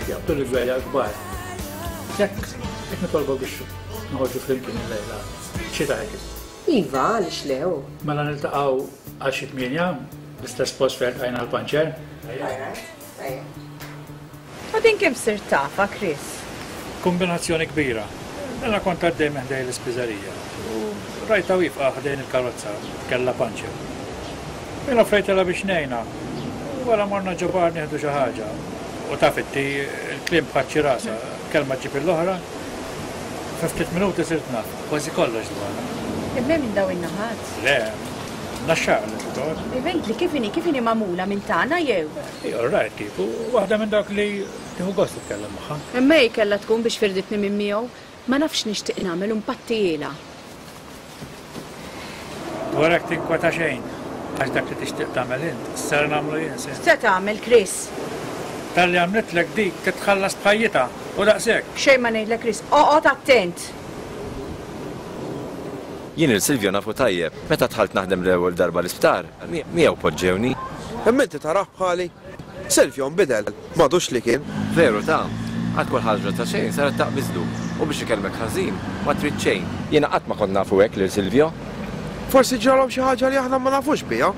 jaqbduli dwejjaq kbar. Jekk jekk nitolbok biex noħorġu flimkien illejla, xi tgħid? Iva, għaliex le, hu. Mela niltaqgħu għal xi tmienja, l-istess post fejn ltqajna l-panċer. U din kif sirt tafha, Chris? Kumbinazzjoni kbira. Mela kont għaddej minn ħdejn l-ispiżerija u rajtha wieqfa ħdejn il-karozza, kellha panċer. Jien offrejtilha biex ngħinha u wara morna ġo bar nieħdu xi ħaġa. U taf inti, il-kliem bħaċ-ċirasa, kelma ġġib il-oħra. Fi ftit minuti sirt naf kważi kollox dwarha. Imma hi minn dawn in-naħat? Le, Naxxar li titgħod. Iva għidli kif inhi, kif inhi magħmula minn tagħna jew? Hi all right kieku, waħda minn dawk li tieħu gost titkellem magħha. Imma hi kellha tkun biex firditni minn miegħu. Ma nafx x'nixtieq nagħmel u npattihielha. Dwar hekk tinkweta xejn, għax dak li tixtieq tagħmel int, ser nagħmlu jien, se. X'se tagħmel, Chris? Talli għamlitlek dik titħallas b'ħajjitha u daqshekk. Xejn ma ngħidlek Chris, oqgħod attent! Jien lil Silvio nafu tajjeb. Meta dħalt naħdem l-ewwel darba l-isptar, miegħu poġġewni. Imma inti tarah bħali? Silvio nbidel, m'għadux li kien. Veru ta'. Għal kull ħaġa ta' xejn saret taqbiżlu u biex ikellmek ħażin ma trid xejn. Jiena qatt ma kont nafu hekk lil Silvio. Forsi ġralhom xi ħaġa li aħna ma nafux biha.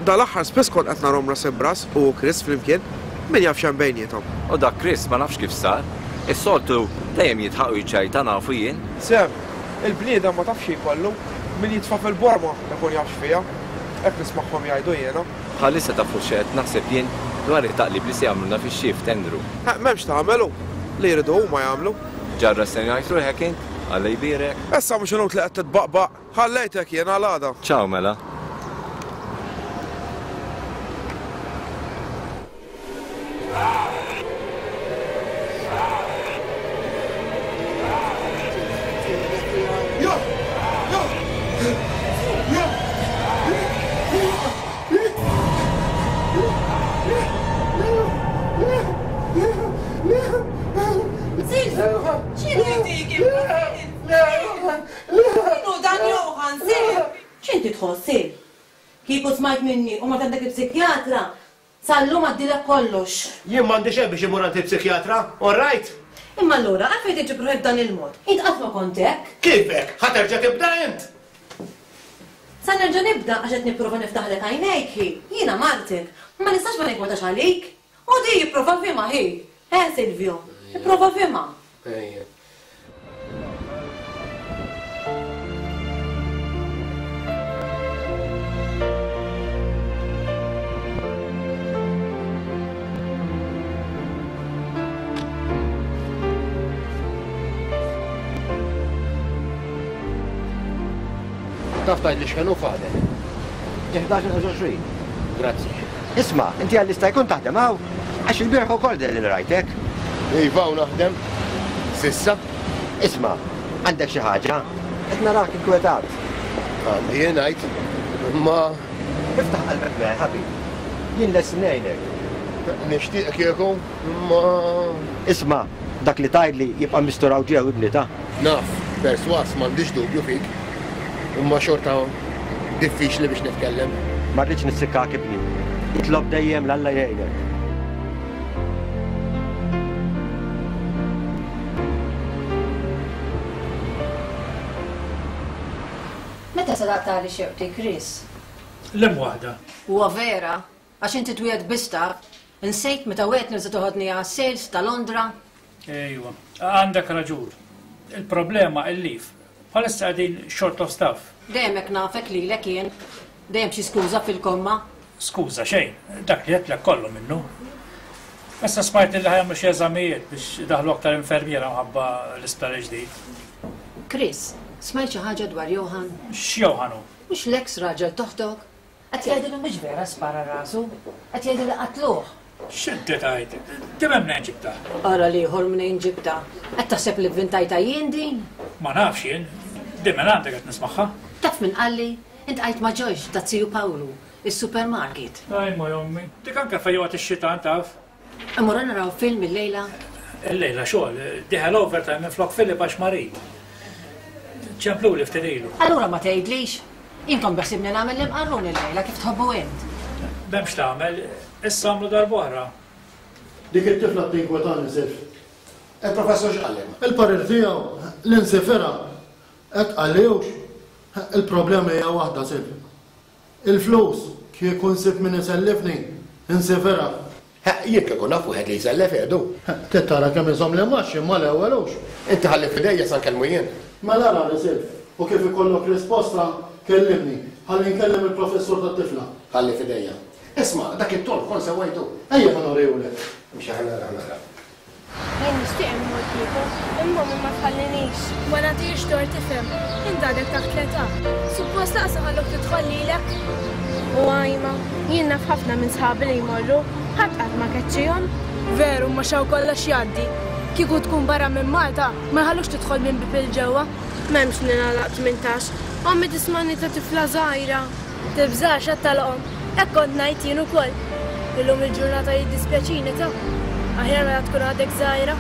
Dal-aħħar spiss kont qed narhom ras imb'ras hu u Chris flimkien. Min jaf x'hemm bejniethom. U dak Chris ma nafx kif sar. Is-soltu dejjem jidħaq u jiċċajta nafu jien. Sam, Il-bniedem ma tafx xi jkollu. Min jitfa' fil-borma ikun jaf x'fiha. Hekk nismagħhom jgħidu jiena. Bħalissa tafu x'qed naħseb jien dwar it-taqlib li se jagħmlulna fix-shift, Andrew? Ħeq m'hemmx x'tagħmel hu. Li jridu huma jagħmlu. Ġarra se ngħid ruħek int? Alla jbierek. Issa mhux inutli qed titbaqbaq. Ħallejtek jien għal għada. Ciao mela. tħoss, Sil. Kieku smajt minni u mort għand dak il-psikjatra, sal-lum għaddielek kollox. Jien m'għandi xejn biex immur għand il-psikjatra, all right? Imma allura għalfejn tiġib ruħek b'dan il-mod? Int qatt ma kont hekk. Kif hekk? Ħa terġa' tibda int? Sa nerġa' nibda għax qed nipprova niftaħlek għajnejk, hi. Jiena martek. Ma nistax ma ninkwetax għalik. U di ipprova fhimha, hi. Eh, Silvio? Ipprova fhimha. Ejja. Taf tgħidli x'ħin hu Father? 11:25. Grazzi. Isma', inti għal jista' jkun taħdem hawn? Għax il-bieraħ ukoll deher li rajtek. Iva hawn naħdem. S'issa. Isma', għandek xi ħaġa? Qed narak inkwetat. Għandi jien ngħid, imma. Iftaħ qalbek miegħi ħabib. Jien lest ngħinek. Nixtieq kieku, imma. Isma', dak li tgħidli jibqa' mistur hawn ġew ibni ta. Naf, persważ m'għandix dubju fik, imma xorta diffiċli biex nitkellem. Ma rridx nissikkak ibni. Itlob dejjem 'l Alla jgħinek. Meta se taqtagħli xewqti, Chris? Liem waħda? Huwa vera, għax inti twiegħed biss taf. Insejt meta wegħedtni li se toħodni għas-sales ta' Londra? Ejwa, għandek raġun. Il-problema il-leave. Bħalissa qegħdin short of staff. Dejjem hekk nafek lilek jien. Dejjem xi skuża fil-komma. Skuża xejn, dak li għedtlek kollu minnu. Issa smajt li ħa jagħmlu xi eżamijiet biex idaħħlu aktar infermiera mħabba l-isptar il-ġdid. Chris, smajt xi ħaġa dwar Johan? X'Johan hu? Mhux l-eks raġel t'oħtok? Qed jgħidu li mhux vera spara rasu. Qed jgħidu li qatluh. X'inti tgħid? Din mnejn ġibtha? Ara l-ieħor mnejn ġibtha. Qed taħseb li vvintajtha jien din? Ma nafx jien. Din minn għandek qed nismagħha. Taf min qalli? Intqajt ma' Joyce ta' ziju Pawlu, is-supermarket. Ajma jommi. Dik anke fejn joqgħod ix-xitan taf. Immorru naraw film illejla? Illejla xogħol. Dieħel overtime minflok Philip għax marid. Ċempluli ftit ilu. Allura ma tgħidlix? Jien kont beħsiebni nagħmel l-imqarrun illejla kif tħobbu int. M'hemmx tagħmel, issa għamlu darb'oħra. Dik it-tifla tinkwetani Sif. Il-professur x'qallek? Il-parir tiegħu li nsifirha. Hekk qalli hux? Il-problema hija waħda Sif. Il-flus, kieku nsib min isellifni, insifirha. Ħeqq, jien kieku naf wieħed li jsellef Edu. Ħeqq, trid tara kemm iżomm l-imgħax imma l-ewwel hux. Inti ħalli f'idejja sa nkellmu jien. Mela ara Risilf, u kif ikollok risposta, kellimni, ħalli nkellem il-professur tat-tifla. Ħalli f'idejja. Isma', dak it-ton kont sewwejtu. Ejja ħa nurihulek. Imxi ħa nara, ħa nara. Jien nixtieq immur kieku, imma ommi ma tħallinix. Ma nagħtihiex tort ifhem, int għadek taħt l-età. Suppost lanqas iħalluk tidħol lilek. U ajma, jien naf ħafna minn sħabi li jmorru, ħadd qatt ma keċċihom. Veru, imma x'hawn kollox jgħaddi. Kieku tkun barra minn Malta, ma jħallukx tidħol minn bieb 'il ġewwa. M'hemmx li nagħlaq 18. Ommi tismagħni ta' tifla żgħira. Tibżax għad tagħlaqhom. Hekk kont ngħid jien ukoll. Illum il-ġurnata jiddispjaċini ta. Aħjar meta tkun għadek żgħira.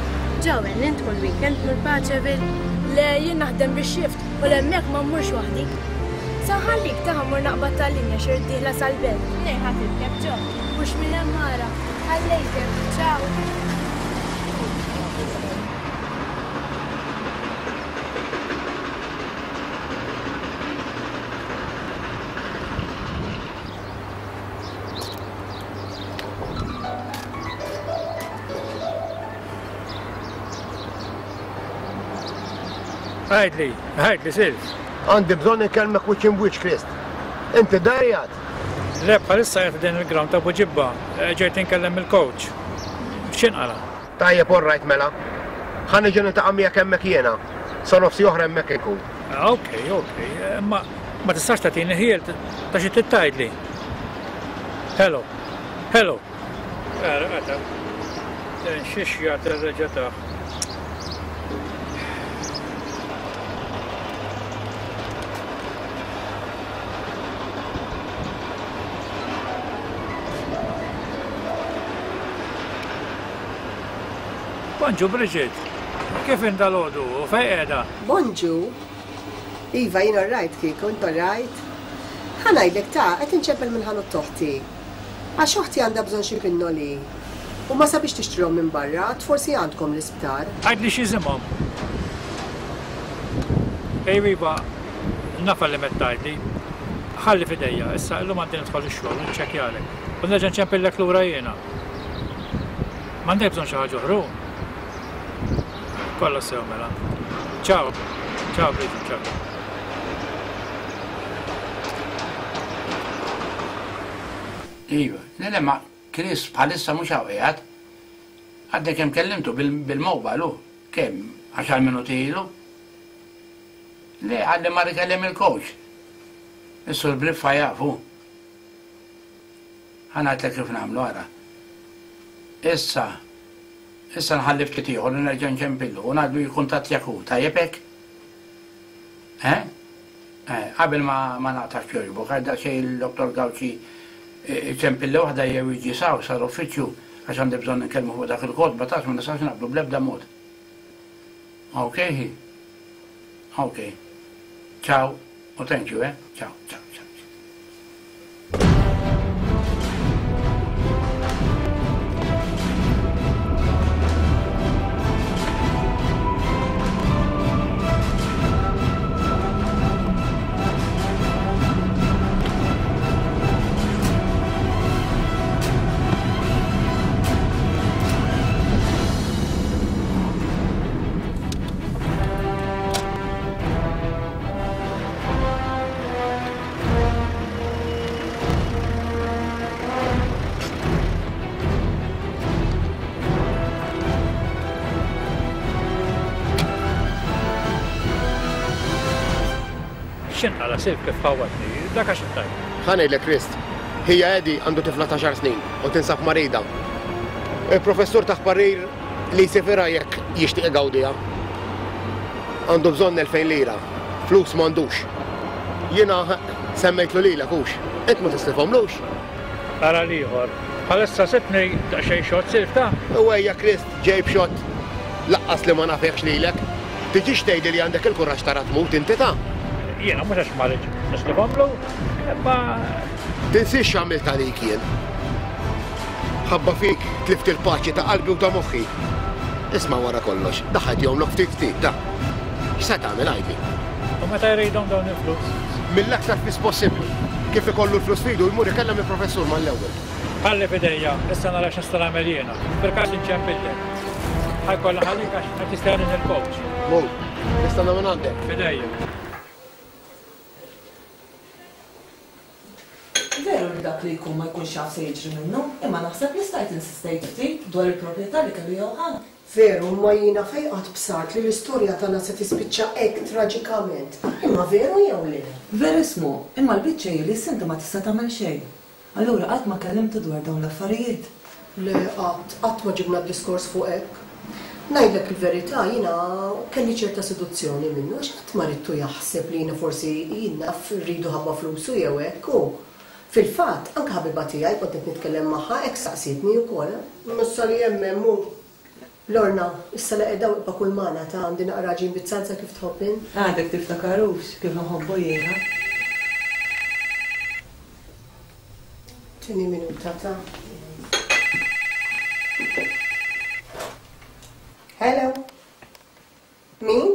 Joel, int kull weekend tmur Paceville? Le, jien naħdem bix-shift u l'hemmhekk ma mmurx waħdi. Sa nħallik ta ħa mmur naqbad tal-linja xi rrid dieħla sal-belt. Mnejn ħa tirkeb Jo? Mhux minn hemm ara. Ħallejtek. Ciao. Għidli, għidli Silv. Għandi bżonn inkellmek wiċċ imbwiċċ Krist. Inti dar qiegħed? Le bħalissa qiegħed din il-ground ta' Buġibba, eh, ġejt inkellem il-coach. X'inqala? Tajjeb all right mela. Ħa niġi niltaqa' miegħek hemmhekk jiena. Sa nofs oħra hemmhekk inkun. Ah, ok, ok. Imma ma tistax tagħtini ħiel ta' xi trid tgħidli. Hello. Hello. Ara, qata. Xiex jagħti reġa' taħ. Bonġu Bridget, kif int dalgħodu u fejn qiegħda? Bonġu! Iva, jien orrajt kieku, int orrajt? Ħa ngħidlek ta, qed inċempel minn ħanut t'oħti. Għax oħti għandha bżonn xi pinnoli. U ma sabitx tixtrihom minn barra, għad forsi għandkom l-isptar. Għidli x'isimhom. Ejwa iva, nafha li m'qed tgħidli. Ħalli f'idejja, issa illum għandi nidħol ix-xogħol u niċċekkjalek. U nerġa' nċempillek lura jiena. M'għandek bżonn xi ħaġa oħra hu? Kollox sew mela. Ciao. Ciao Bridget, ciao. Iva, le le ma Chris bħalissa mhux hawn qiegħed. Għadni kemm kellimtu bil-mobile hu. Kemm? Għaxar minuti ilu? Le, qalli mar ikellem il-coach. Is-Sur Briffa jaf hu. Ħa ngħidlek kif nagħmlu ara. Issa, issa nħalli ftit ieħor u nerġa' nċempillu u ngħidlu jikkuntattjak hu, tajjeb hekk? Eh? Eh, qabel ma ma naqtax jogħġbok, għal daqsxejn il-Dottor Gauci iċempilli waħda jew jiġi s'hawn sal-uffiċċju għax għandi bżonn inkellmu fuq dak il-kotba taf ma nistax naqblu bl-ebda mod. Ok hi? Ok. Ciao u thank you, eh? Ciao, ciao, ciao. X'inqala' Silv kif ħawwadni, dak għax intajt. Ħa ngħidlek Krist, ħija Eddie għandu tifla t'għaxar snin u tinsab marida. Il-professur tah parir li jsifirha jekk jixtieq igawdiha. Għandu bżonn 2000 lira. Flus m'għandux. Jiena semmejtlu lilek hux. Int ma tislifhomlux? Ara l-ieħor. Bħalissa sibtni daqsxejn xott silf ta'. U ejja Krist ġej b'xott. Laqqas li ma nafekx lilek. Tiġix tgħidli li għandek il-kuraġġ tara tmut inti ta'. Jiena mhux għax ma rridx nislifhomlu, imma. Tinsiex x'għamilt għalik jien. Ħabba fik tlift il-paċi ta' qalbi u ta' moħħi. Isma' wara kollox, daħħalt jomlok ftit ftit, ta. X'se tagħmel għidli? U meta jridhom dawn il-flus? Mill-aktar fis possibbli. Kif ikollu l-flus f'idu jmur ikellem lill-professur mal-ewwel. Ħalli f'idejja, issa nara x'nista' nagħmel jiena. Fil-każ inċempillek. Ħa jkollha ħallik għax qed jistedin il-coach. Mur, nistenna minn għandek. F'idejja. Veru li dak li jkun ma jkunx jaf se jiġri minnu, imma naħseb li stajt insistejt ftit dwar il-proprjetà li kellu Johann. Veru, imma jiena fejn qatt bsart li l-istorja tagħna se tispiċċa hekk traġikament? Imma veru jew le? Verismu, imma l-biċċa hi li issa inti ma tista' tagħmel xejn. Allura qatt ma kellimtu dwar dawn l-affarijiet? Le, qatt, qatt ma ġibna d-diskors fuq hekk. Ngħidlek il-verità, jiena kelli ċerta seduzzjoni minnu għax qatt ma ridtu jaħseb li jiena forsi, jien naf, rridu ħabba flusu jew hekk u, fil-fatt, anke ħabiba tiegħi kont qed nitkellem magħha hekk saqsietni wkoll. Issa li hemm hemm hu. Lorna, issa li qiegħda hawn ibqa' kul magħna ta' għandi naqra għaġin biz-zalza kif tħobb int. Għadek tiftakarux kif inħobbu jiena? Tini minuta ta'. Hello. Min?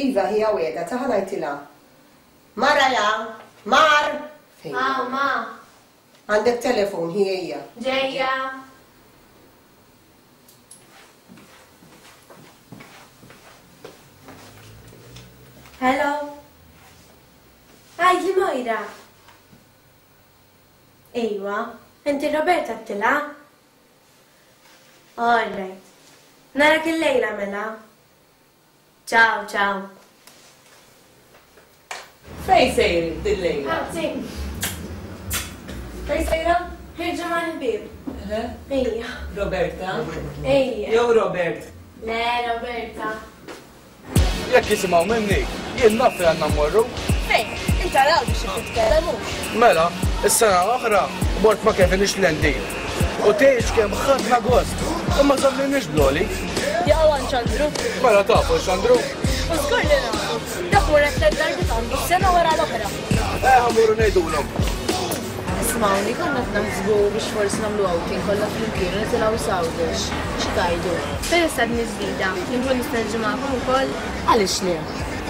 Iva, hija wegħda ta' ħanajtilha. Mara ja, mar! Aw, ah, ma. Għandek telefon, hi ejja. Ġejja. Hello. Għidli Moira. Ejwa, inti Roberta għedtilha? All right. Narak illejla mela. Ciao, ciao. Fejn sejrin dil-lejla? Grazzi. Fejn sejra? Ħirġa mal-ħbieb. Ejja. Roberta? Ejja. Jew Robert? Le, Roberta. Jekk jisimgħu minni, jien naf fejn għandna mmorru. Fejn? Int ara biex titkellem hux. Mela, is-sena l-oħra mort ma' Kevin ix-Xlendi. U tgħidx kemm ħadna gost. U ma żammilniex bl-għoli. Jaqgħu għand Xandru. Mela tafu Xandru? U żgur li nafu. Dak mur hekk darbiet għandu sena wara l-oħra. Eh, ħa mmorru ngħidulhom. Ismawni, konna qed naħsbu biex forsi nagħmlu outing kollha flimkien u nitilgħu s'Għawdex. Xi tgħidu? Peress għadni ġdida, inkun nista' niġi magħkom ukoll? Għaliex le?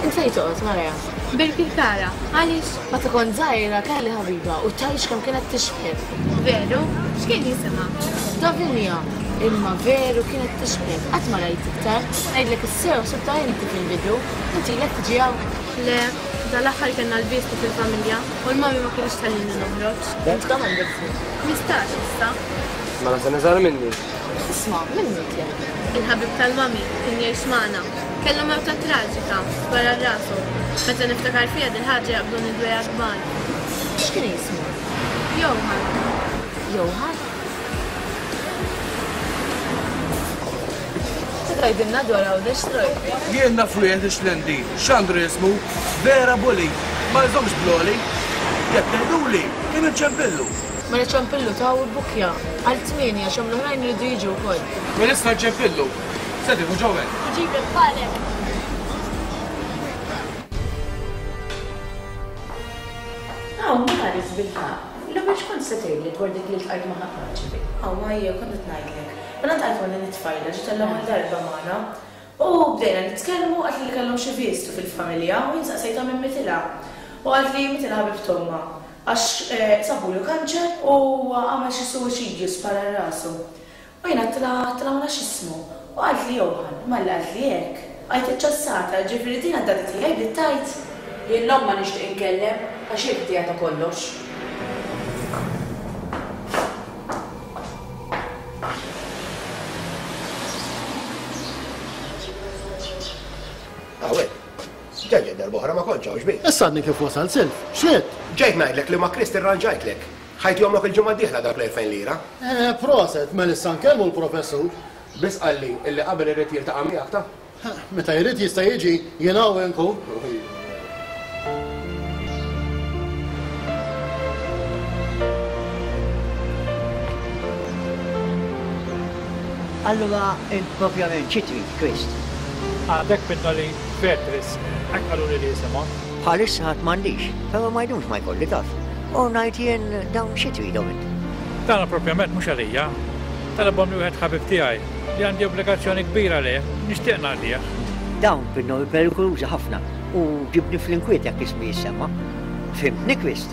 Int fejn toqgħod, Maria? Birkirkara. Għaliex? Meta kont żgħira kelli ħabiba u tgħidx kemm kienet tixbhek. Veru? X'kien jisimha? Davinia. Imma veru kienet tixbhek. Qatt ma rajt iktar. Ngħidlek is-sew ħsibtha inti fil-bidu. Inti ilek tiġi hawn? Le, dal-aħħar kellna l-vistu fil-familja u l-mami ma kinitx tħallini noħroġ. Int kemm għandek żmien? 15 issa. Mela sena żgħar minni. Isma', min mietlek? Il-ħabib tal-mami kien jgħix magħna. Kellu mewta traġika, spara rasu. Meta niftakar fiha dil-ħaġa jaqbduni dwejjaq kbar. X'kien jismu? Johan. Johan? Xi tgħidilna dwar Għawdex Troy? Jien naf wieħed ix-Xlendi, Xandru jismu, vera bully, ma jżommx bl-għoli. Jekk tgħiduli, kien iċempillu. Mela ċempillu ta' u bbukkja għal tmienja għax hemm l-oħrajn iridu jiġu wkoll. Mela issa nċempillu. Se tieħu Joel? Iġiblek bħalek. Hawn Maris bil-ħaqq. L-ewwel x'kont se tgħidli dwar dik li ltqajt magħha Paċi? Hawn ejja kont qed ngħidlek. Mela ltqajt ma' din it-tfajla ġiet għall-ewwel darba magħna. U bdejna nitkellmu qaltli li kellhom xi vistu fil-familja u jien saqsejtha min mitilha. U qaltli mitilha ħabib t'ommha għax sabulu kanċer u għamel xi suwiċidju spara rasu. U jien għedtilha għedtilha ma nafx x'ismu. U qaltli Johann. Malli qaltli hekk, bqajt iċċassata, jiġifieri din għad-daddy tiegħi bdiet tgħid. Jien 'l ommha nixtieq inkellem għax hi ħtija ta' kollox. Hawn, ġa ġejt darb'oħra ma kontx hawn xbin. Issa għadni kif wasalt Silv, x'ridt? Ġejt ngħidlek li ma' Krist irranġajtlek. Ħa jtihomlok il-ġimgħa d-dieħla dawk l-2000 lira. Eh, proset, mela issa nkellmu l-professur. Biss qalli illi qabel irid jiltaqa' miegħek ta. Meta jrid jista' jiġi, jien hawn inkun. Allura int propjament xi trid, Krist? Għandek pinnoli Petris, hekk qaluli li jisimhom. Bħalissa għad m'għandix, però ma jdumx ma jkolli taf. U ngħid jien dawn xi tridhom int? Dana propjament mhux għalija. Talabhomli wieħed ħabib tiegħi li għandi obbligazzjoni kbira lejh, nixtieq nagħtih. Dawn pinnoli perikolużi ħafna u ġibni fl-inkwiet jekk ismi jissemma. Fhimtni, Krist?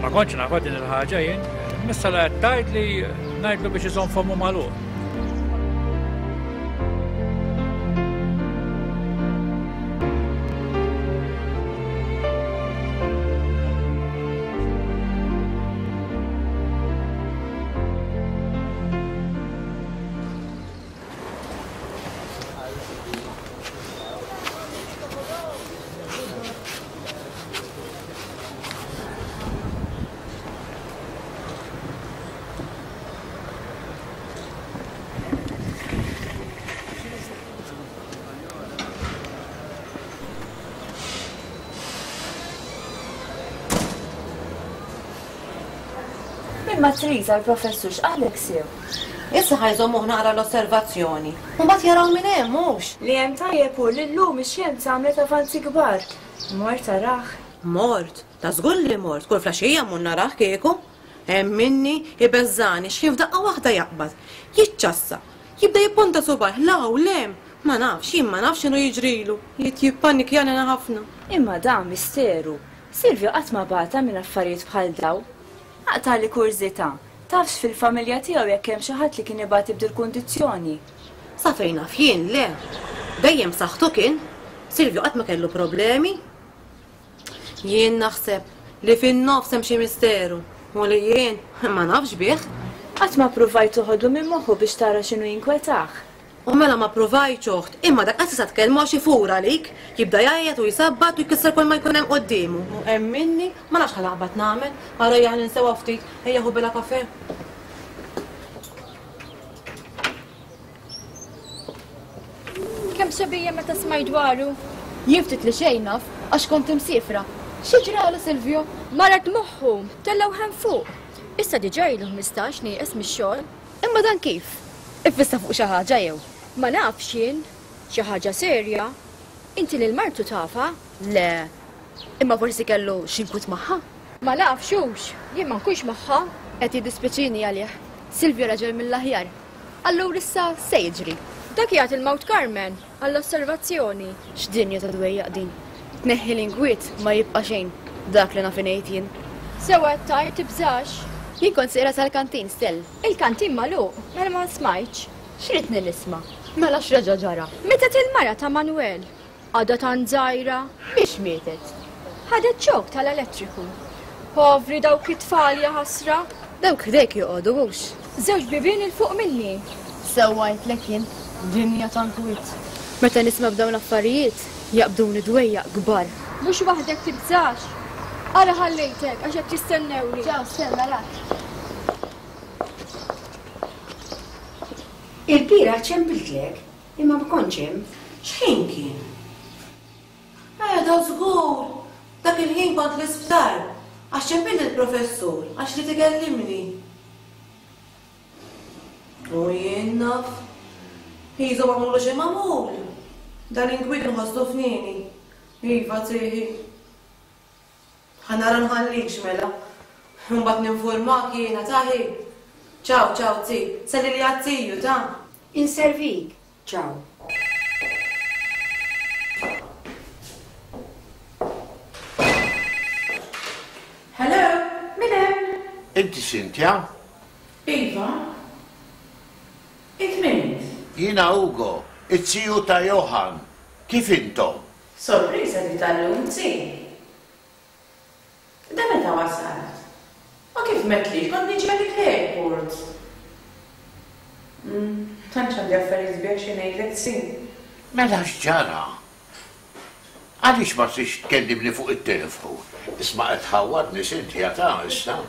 Ma kontx nafha din il-ħaġa jien. Missa la qed tgħidli ngħidlu biex iżomm fommu magħluq. Imma Triza l-professur x'qallek sew? Issa ħa jżommuh naqra l-osservazzjoni. U mbagħad jaraw minn hemm, hux? Li hemm tajjeb hu li llum ix-xjenza għamlet avanzi kbar. Mort tarah? Mort? Ta' żgur li mort, kull flaxija mmur narah kieku. Hemm minni ibeżżagħni x'ħin f'daqqa waħda jaqbad, jiċċassa, jibda jipponta subgħajh 'l hawn 'l hemm. Ma nafx, jien ma nafx x'inhu jiġrilu. Jrid jippanikjani ħafna. Imma dan misteru. Silvio qatt ma bata minn affarijiet bħal dawn. Aqtagħli kurżità, tafx fil-familja tiegħu jekk hemm xi ħadd li kien ibati b'dil-kundizzjoni? Sa fejn naf jien, le. Dejjem b'saħħtu kien. Silvio qatt ma kellu problemi. Jien naħseb li fin-nofs hemm xi misteru u li jien ma nafx bih. Qatt ma ppruvajt toħodlu minn moħħu biex tara x'inhu jinkwetah? U mela ma ppruvajtx oħt, imma dak qas tista' tkellmu għax ifur għalik, jibda jgħajjat u jsabbat u jkisser kull ma jkun hemm quddiemu. U emminni, ma nafx x'ħa naqbad nagħmel, ara ejja ħa ninsewha ftit, ejja ħu bela kafè. Kemm xebija meta smajt dwaru? Jien ftit li xejn naf, għax kont imsiefra. Xi ġralu Silvio? Marad moħħu, tellgħu hemm fuq. Issa diġà ilu 15 nieqes mix-xogħol. Imma dan kif? Iffissa fuq xi ħaġa jew? Ma nafx jien. Xi ħaġa serja? Inti lil martu tafha? Le. Imma forsi kellu xi nkwiet magħha? Ma nafx hux, jien ma nkunx magħha. Qed jiddispjaċini għalih. Silvio raġel mill-aħjar. Allura issa se jiġri? Dak qiegħed il-Mount Carmen għall-osservazzjoni. X'dinja ta' dwejjaq din. Tneħħi l-inkwiet ma jibqa' xejn, dak li naf ingħid jien. Sewwa qed tgħid, tibżax. Jien kont sejra sal-kantin, Stell. Il-kantin magħluq, mela ma smajtx. X'ridni nisma'? Mela x'reġa' ġara? Mietet il-mara ta' Manuel. Għadha tant żgħira. Biex mietet? Ħadet xokk tal-elettriku. Povri dawk it-tfal jaħasra. Dawk ħdejk joqogħdu hux? Żewġ bibien 'il fuq minni. Sewwa għidtlek jien, dinja ta' nkwiet. Meta nisma' b'dawn l-affarijiet, jaqbduni dwejjaq kbar. Mhux waħdek tibżax. Ara ħallejtek għax qed jistennewni. Ciao Stella, narak. Il-bieraħ ċempiltlek Imma ma kontx hemm. X'ħin kien? Eh, da żgur! Dak il-ħin kont l-isptar, għax ċempilli l-professur għax ried ikellimni. U jien naf. Qisu magħmullu xi magħmul. Dan l-inkwiet inħossu fnieni. Iva, tieħi. Ħa nara nħallikx mela. Imbagħad ninfurmak jiena ta ħi. Ciao ciao zi, sellili għat-tiju ta. Inservik, ciao. Hello, min hemm? Inti Cynthia? Iva. Int min int? Jiena Ugo, it-ziju ta' Johann. Kif intom? Sorpriża di tal-lum zi. Da meta wasalt? U kif m'għedtlix kont niġi għalik l-airport. Umm, tantx għandi affarijiet sbieħ xi ngħidlek zi. Mela x'ġara? Għaliex ma tridx tkellimni fuq it-telefon? Isma' qed tħawwadni Cynthia ta' issa.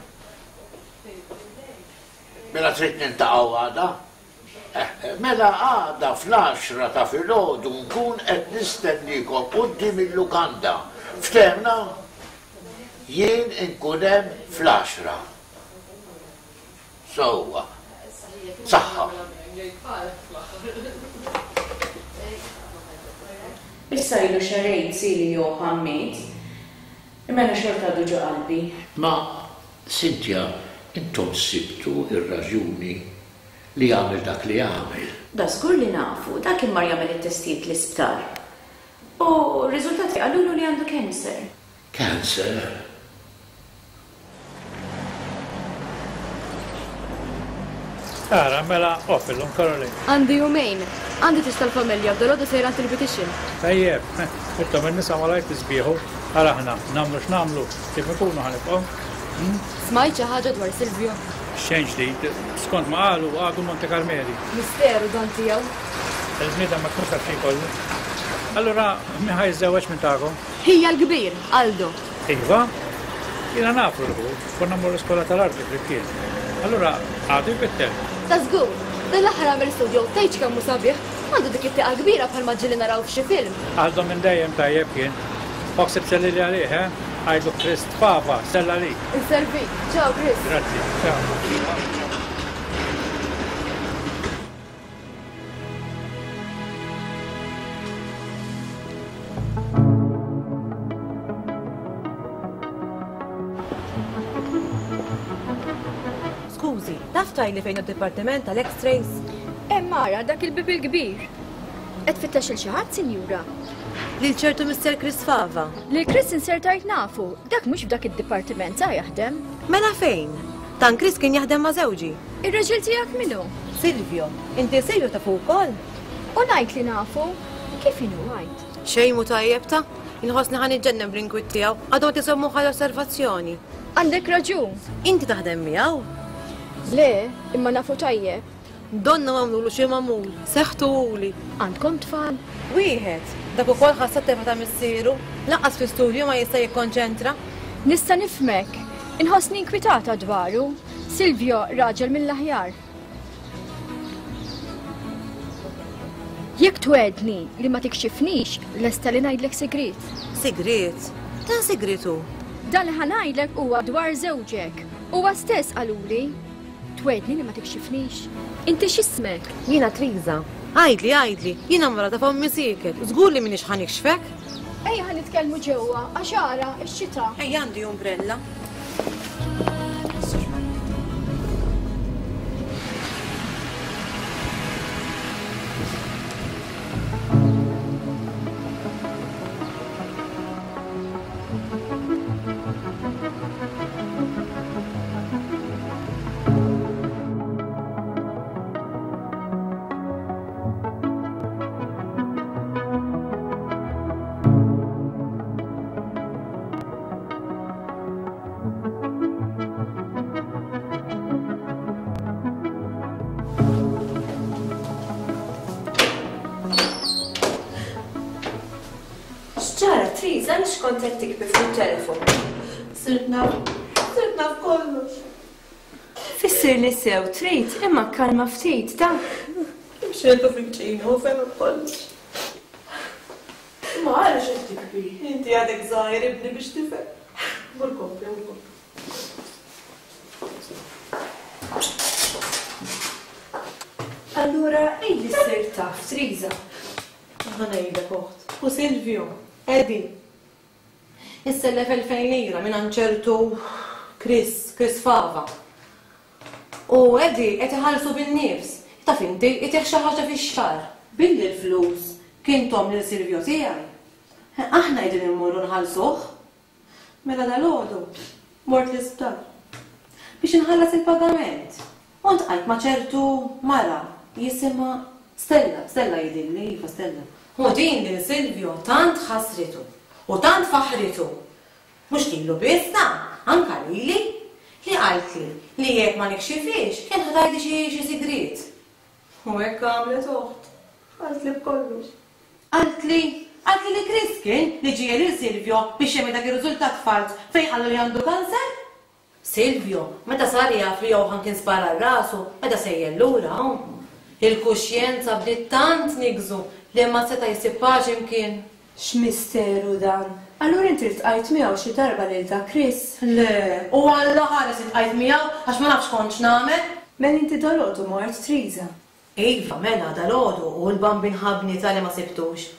Mela trid niltaqgħu għada? Mela għada fl-għaxra ta' filgħodu nkun qed nistenniekom quddiem il-lukanda. Ftehmna? Jien inkun hemm fl-għaxra. Sewwa. Saħħa. Issa ilu xahrejn sili Johann miet, imma jiena xorta għadu ġo qalbi. Ma, Cynthia, intom sibtu r-raġuni li għamel dak li għamel. Da żgur li nafu, dak kien mar jagħmel it-testijiet l-isptar. U r-riżultati qalulu li għandu cancer. Cancer? Ara, mela off illum, Caroline. Għandi jumejn. Għandi tieġ tal-familja u dalgħodu sejra għand il-beautician. Tajjeb, intom in-nisa malajr tisbieħu. Ara aħna, nagħmlu x'nagħmlu, kif inkunu ħa nibqgħu. Smajt xi ħaġa dwar Silvio? Xejn ġdid. Skont ma qalu, għadu Monte Carmeli. Misteru dan tiegħu. Il-bniedem ma jkunx jaf xi jkollu. Allura, min ħa jiżżewweġ minn tagħkom? Ħija l-kbir, Aldo. Iva? Jiena nafu l-ħu, konna mmorru l-iskola tal-arti flimkien. Allura, għadu jpittel? Ta' żgur! Dan l-aħħar għamel studio, tgħidx kemm hu sabiħ! Għandu dik it-tieqa kbira bħalma ġieli naraw f'xi film. Aldo minn dejjem tajjeb kien. Oħseb sellili għalih, eh? Għidlu Chris Fava, sell għalik. Inservik. Ciao Chris. Grazzi. Ciao. Skużi, taf tgħidli fejn hu d-dipartiment tal-X-rays? Hemm ara dak il-bieb il-kbir. Qed tfittex lil xi ħadd, sinjura? Lil ċertu Mister Chris Fava. Lil Chris insertajt nafu, dak mhux f'dak id-dipartiment sa jaħdem. Mela fejn? Dan Chris kien jaħdem ma' żewġi. Ir-raġel tiegħek min hu? Silvio. Inti Silvio tafu wkoll? U ngħid li nafu. Kif inhu għid? Xejn mhu tajjeb ta'. Inħossni ħa niġġennen bl-inkwiet tiegħu. Għadhom qed iżommuh għal osservazzjoni. Għandek raġun. Inti taħdem miegħu? Le, imma nafu tajjeb. Donnu għamlulu xi magħmul, seħħtuhuli. Għandkom tfal? Wieħed. Dak ukoll ħass t-telfa ta' missieru. Lanqas fl-istudju ma jista' jikkonċentra. Nista' nifhmek. Inħossni inkwitata dwaru. Silvio raġel mill-aħjar. Jekk twegħedni li ma tikxifnix, lesta li ngħidlek sigriet. Sigriet? Dan sigriet hu? Dan li ħa ngħidlek huwa dwar żewġek. Huwa stess qaluli. Twegħedni li ma tikxifnix? Inti x'ismek? Jiena Triża. Għidli, għidli, jiena mara ta' fommi sieket, żgur li m'iniex ħa nikxfek. Ejja ħa nitkellmu ġewwa għax ara x-xita. Ejja għandi umbrella. X'ġara, Triz, għaliex kont qed tikbi fuq it-telefon? Sirt naf, sirt naf kollox. Fissirli sew trid, imma kkalma ftit, ta. Imxejtu fil-ċina u fehmek kollox. Imma għaliex qed tibki? Inti għadek żgħir ibni biex tifhem. Mur kompli, mur kompli. Allura għidli sirt taf, Triża. Ħa ngħidlek oħt. U Silvio, Eddie. Issellef 2000 lira mingħand ċertu Chris, Chris Fava. U Eddie qed iħallsu bin-nifs. Taf inti, itih xi ħaġa fix-xahar. Billi l-flus kien thom lil Silvio tiegħi, aħna qegħdin immorru nħallsuh. Mela dalgħodu mort l-isptar biex inħallas il-pagament u ltqajt ma' ċertu mara jisimha Stella, Stella jidhirli, iva Stella. U din lil Silvio tant ħassritu u tant faħħritu, mhux lilu biss ta, anka lili, li qaltli li jekk ma nikxifhiex kien ħa tgħidli xi xi sigriet. U hekk għamlet oħt, qaltli b'kollox. Qaltli, qaltli li Chris kien li ġiegħel lil Silvio biex jagħmel dak ir-riżultat falz fejn qallu li għandu kanser. Silvio, meta sar jaf li Johann kien spara għal rasu, beda sejjer lura hawn. Il-kuxjenza bdiet tant tniggżu li ma seta' jsib paċi mkien. X'misteru dan! Allura inti ltqajt miegħu xi darba lil dak Chris? Le, u Alla ħares iltqajt miegħu għax ma nafx x'kont x'nagħmel. Mela inti dalgħodu mort Triża? Iva, mela, dalgħodu, u l-Bambin ħabni talli ma sibtux.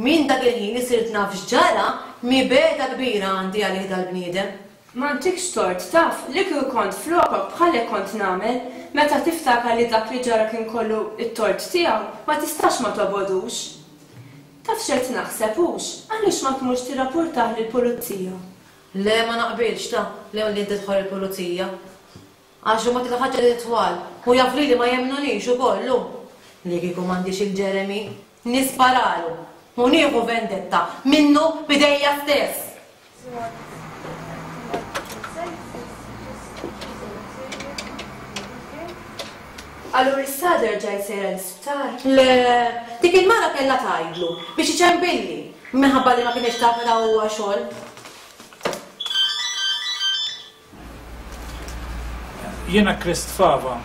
Minn dak il-ħin li sirt naf x'ġara, mibegħda kbira għandi għalih dal-bniedem. M'għandikx tort, taf, li kieku kont flokok bħalek kont nagħmel, meta tiftakar li dak li ġara kien kollu t-tort tiegħu, ma tistax ma tobgħodux. Taf x'qed naħseb hux, għaliex ma tmurx tirrapurtah lill-pulizija? Le, ma naqbilx, ta, le li tidħol il-pulizija. Għax huma dik il-ħaġa li twal u jaf lili ma jemmnunix ukoll hu. Li kieku m'għandix il Jeremy, nisparalu u nieħu vendetta minnu b'idejja stess! Allura issa għada rġajt sejra l-isptar? Le, dik il-mara kellha tgħidlu biex iċempilli minħabba li ma kinitx taf meta huwa xogħol. Jiena Krist Fava.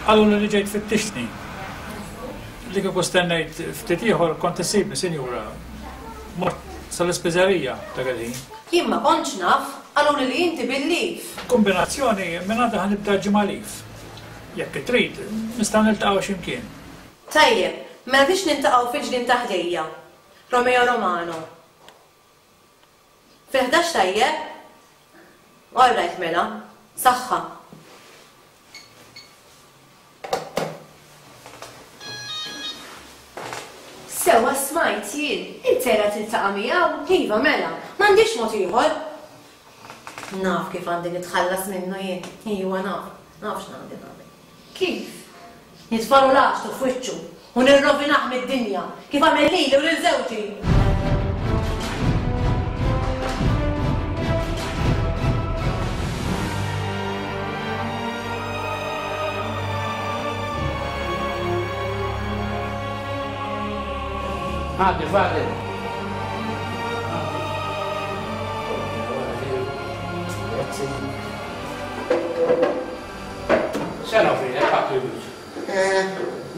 Qaluli li ġejt tfittixni. Li kieku stennejt ftit ieħor kont issibni, sinjura. Mort sal-ispiżerija dak il-ħin. Jien ma kontx naf, qaluli li inti bil-leave. Kumbinazzjoni, minn għada ħa nibda ġimgħa leave. Jekk trid, nistgħu niltaqgħu xi mkien. Tajjeb, mela biex niltaqgħu fil-ġnien ta' ħdejja. Romeo Romano. Fil-11 tajjeb? All right mela. Saħħa. Sewwa smajt jien, int sejra tiltaqa' miegħu? Iva mela, m'għandix mod ieħor. Naf kif għandi nitħallas minnu jien. Iva naf, naf x'għandi nagħmel. Kif? Nitfagħlu l-għaxtu f'wiċċu u nirrovinah mid-dinja, kif għamel lili u lil żewġi! Għaddi, Fadil. Grazzi. Sena fil, ħattu jgħid. Eh,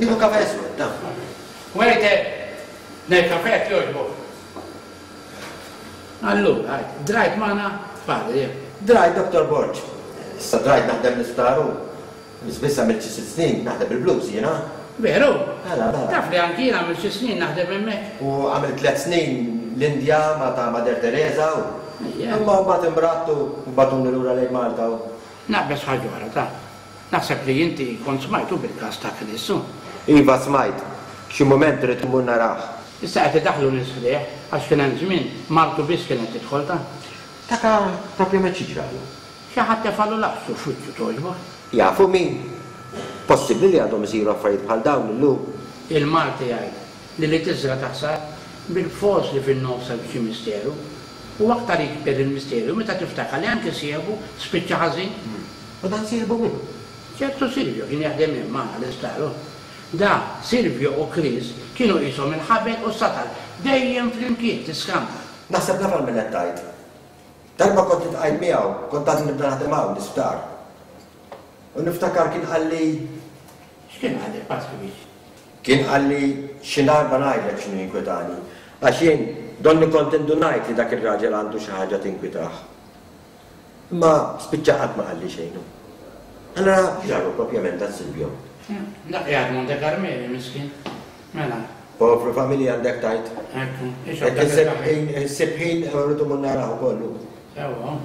nieħu kafe iswed, ta. Waiter, nej kafe jogħġbok. Allura, drajt magħna Fadil. Drajt, Dr. Borg. Issa drajt naħdem l-isptar u biss għamilt xi sitt snin naħdem il-blues jiena. Veru? Mela, mela. Taf li anki jien għamilt xi snin naħdem hemmhekk. U għamilt tliet snin. l-Indja ma' ta' Mother Teresa u. Imma mbagħad imradt u bagħtuni lura lejn Malta u. Naqbeż ħaġa oħra ta'. Naħseb li inti kont smajtu bil-każ ta' Chris u. Iva smajt. Xi mument irrid immur narah. Issa qed idaħħlu nies ħdejh għax kien hemm żmien martu biss kienet tidħol ta'. Dak propjament xi ġralu? Xi ħadd tefagħlu laqsu f'wiċċu togħġbok? Jafu min? Possibbli li għadhom isiru affarijiet bħal dawn illum? Il-Malti jgħid li li tiżra' taħsad, bil-fors li fin-nofs hemm xi misteru. U aktar jikber il-misteru meta tiftakar li anki sieħbu spiċċa ħażin. U dan sieħbu min hu? Ċertu Silvio kien jaħdem hemm magħna l-isptar hu. Da, Silvio u Chris kienu qishom il-ħabel u s-satal, dejjem flimkien, tiskanta. Naħseb naf għal min qed tgħid. Darba kont iltqajt miegħu, kont għadni nibda naħdem hawn l-isptar. U niftakar kien qalli. X'kien qallek, Patri Biċ? Kien qalli xi darba ngħidlek x'inhu jinkwetani, għax jien donni kont indunajt li dak ir-raġel għandu xi ħaġa tinkwitah. Imma spiċċa qatt ma qalli xejn hu. Allura x'ġralu propjament dan Silvio? Dak qiegħed Monte Carmeli miskin. Mela. Povru familja għandek tgħid. Ekku. Jekk insib ħin, insib ħin irrid immur narah ukoll hu. Sewwa.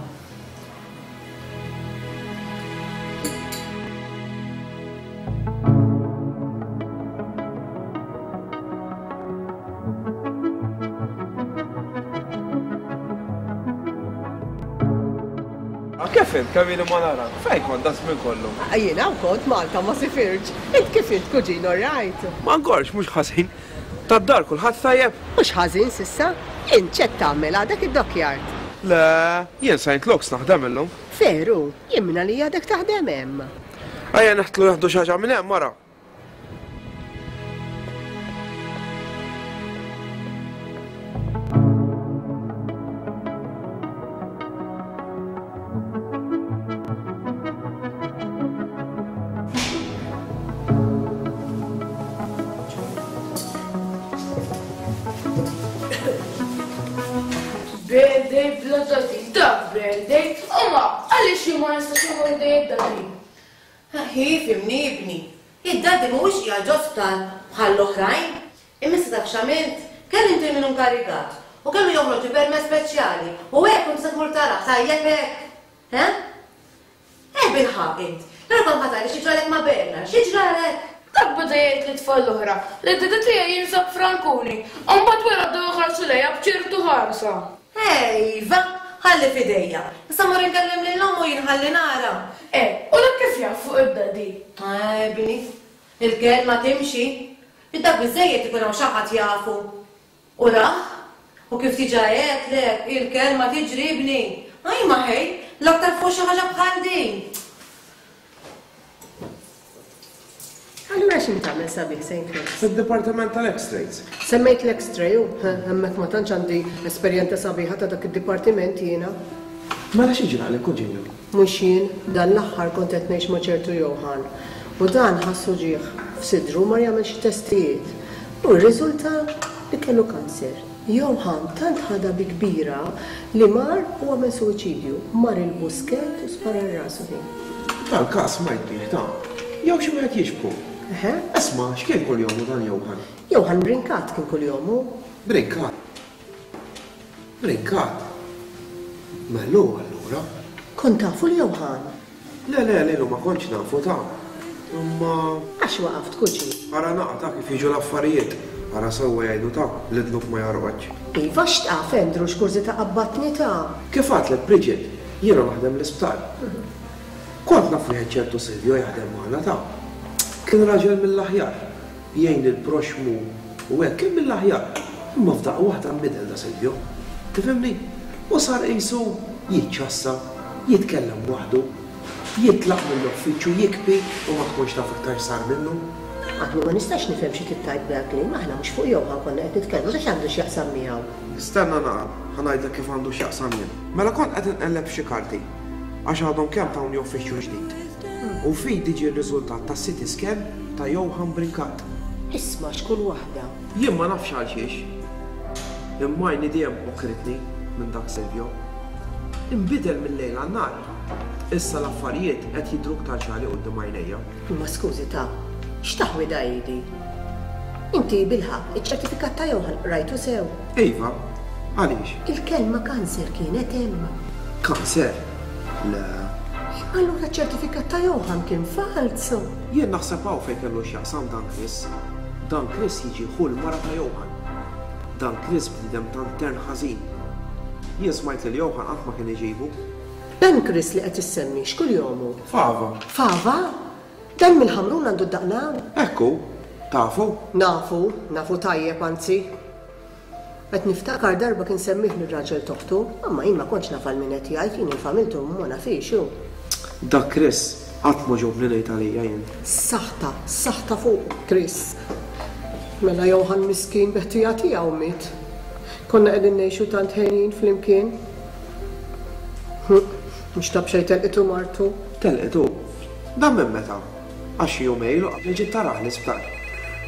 Kif int, kemm ili ma narak? Fejn kont daż-żmien kollu? Jien hawn kont Malta ma sifirtx. Int kif int kuġin all right? Ma nkorx, mhux ħażin. Tad-dar kulħadd tajjeb? Mhux ħażin s'issa. Int x'qed tagħmel għadek id-dockyard? Le, jien Saint Luke's naħdem illum. Veru? Jien mingħalija għadek taħdem hemm. Ejja neħtlu nieħdu xi ħaġa minn hemm ara. Birthday bla daddy, dak birthday, imma għaliex jien ma nistax immur ħdej id-daddy? Hi, fhimni ibni, id-daddy mhuwiex qiegħed ġo sptar bħall-oħrajn. Imma issa taf x'għamilt? Kellimt lil min hu nkarigat u kellu joħroġli permess speċjali u hekk kont se tmur tarah, tajjeb hekk? Eh? Eh bilħaqq int, però kont ma tgħidli xi ġralek ma' Bernard, xi ġralek? Dak beda jgħid lit-tfal l-oħra li d-dada tiegħi jinsab Frankuni u mbagħad wara bdew iħarsu lejha b'ċertu ħarsa. Eh iva, ħalli f'idejja. Issa mmur inkellem lil ommu jien ħalli nara. Eh, u dak kif jaf fuq id-daddy? Eh ibni, il-kelma timxi. Dak biżżejjed ikun hawn xi ħadd jafu. U rah? U kif diġà għedtlek, il-kelma tiġri ibni. Ajma ħej, l-aktar fuq xi ħaġa bħal din. Allura x'int tagħmel sabiħ Saint Luke's? Fid-dipartiment tal-X-rays. Semmejt l-X-ray u, hemmhekk ma tantx għandi esperjenza sabiħa ta' dak id-dipartiment jiena. Mela xi ġralek, Kuġinu? Mhux jien, dan l-aħħar kont qed ngħix ma' ċertu Johann u dan ħass uġigħ f'sidru u mar jagħmel xi testijiet u rriżulta li kellu kanser. Johann tant ħadha bi kbira li mar u għamel suwiċidju, mar il-Buskett u spara 'l rasu ħin. Dal-każ smajt bih ta'. Jew xi wieħed jixbħu. Eħe. Isma', x'kien kuljomu dan Johann? Johann Brincat kien kuljomu. Brincat? Brincat? Mela hu allura. Kont tafu 'l Johann? Le, le, lilu ma kontx nafu ta'. Imma. Għax waqaft, kuġin? Ara naqa' ta' kif jiġu l-affarijiet. Ara sewwa jgħidu ta' li dnub ma jorqodx. Iva, x'taf, Andrew, x'kurżità qabbatni ta'. Kif għadtlek, Bridget, jiena naħdem l-isptar. Kont naf wieħed ċertu Silvio jaħdem magħna ta'. Kien raġel mill-aħjar. Jgħin lill-proxxmu u hekk, kien mill-aħjar. Imma f'daqqa waħda nbidel da Silvio. Tifhimni? U sar qisu jiċċassa, jitkellem waħdu, jitlaq mill-uffiċċju jikbi u ma tkunx taf iktar x'sar minnu. Għadni ma nistax nifhem xi trid tgħid b'dak-kliem, aħna mhux fuq Johann konna qed nitkellmu, dak x'għandu x'jaqsam miegħu? Stenna naqra, ħa ngħidlek kif għandu x'jaqsam jien. Mela kont qed inqelleb f'xi karti, għax għadhom kemm tawni uffiċċju ġdid. U f'idi ġie r-riżultat tas-CT scan ta' Johann Brincat. Isma' x'kull waħda. Jien ma nafx għalxiex. Imma għajni dejjem għokritni minn dak Silvio. Inbidel mil-lejl għan-nhar. Issa l-affarijiet qed jidhru iktar ċari quddiem għajnejja. Imma skużi ta', x'taħwida hi di? Inti bilħaqq iċ-ċertifikat ta' Johann qrajtu sew? Iva. Għaliex? Il-kelma kanser kienet hemm. Kanser? Le. Allura ċ-ċertifikat ta' Johann kien falz? Jien naħseb hawn fejn kellu x'jaqsam dan Chris. Dan Chris jiġi ħu l-mara ta' Johann. Dan Chris bniedem tant tern ħażin. Jien smajt lil Johann qatt ma kien iġibu. Dan Chris li qed issemmi x'kuljomu? Fava. Fava? Dan mill-Ħamrun għandu d-daqna? Hekk hu. Tafu? Nafu, nafu tajjeb anzi. Qed niftakar darba kien semmiehni r-raġel t'oħtu, imma jien ma kontx naf għal min qed jgħid, jien il-familtu ma nafhiex hu. Dak Chris qatt m'għoġobni ngħid għalija jien. Saħta, saħta fuqu Chris. Mela Johann miskin bi ħtija tiegħu miet. Konna qegħdin ngħixu tant henjin flimkien. Mhux ta' b'xejn telqitu martu. Telqitu? Dan minn meta? Għax xi jumejn ilu qabel ġiet tarah l-isptar.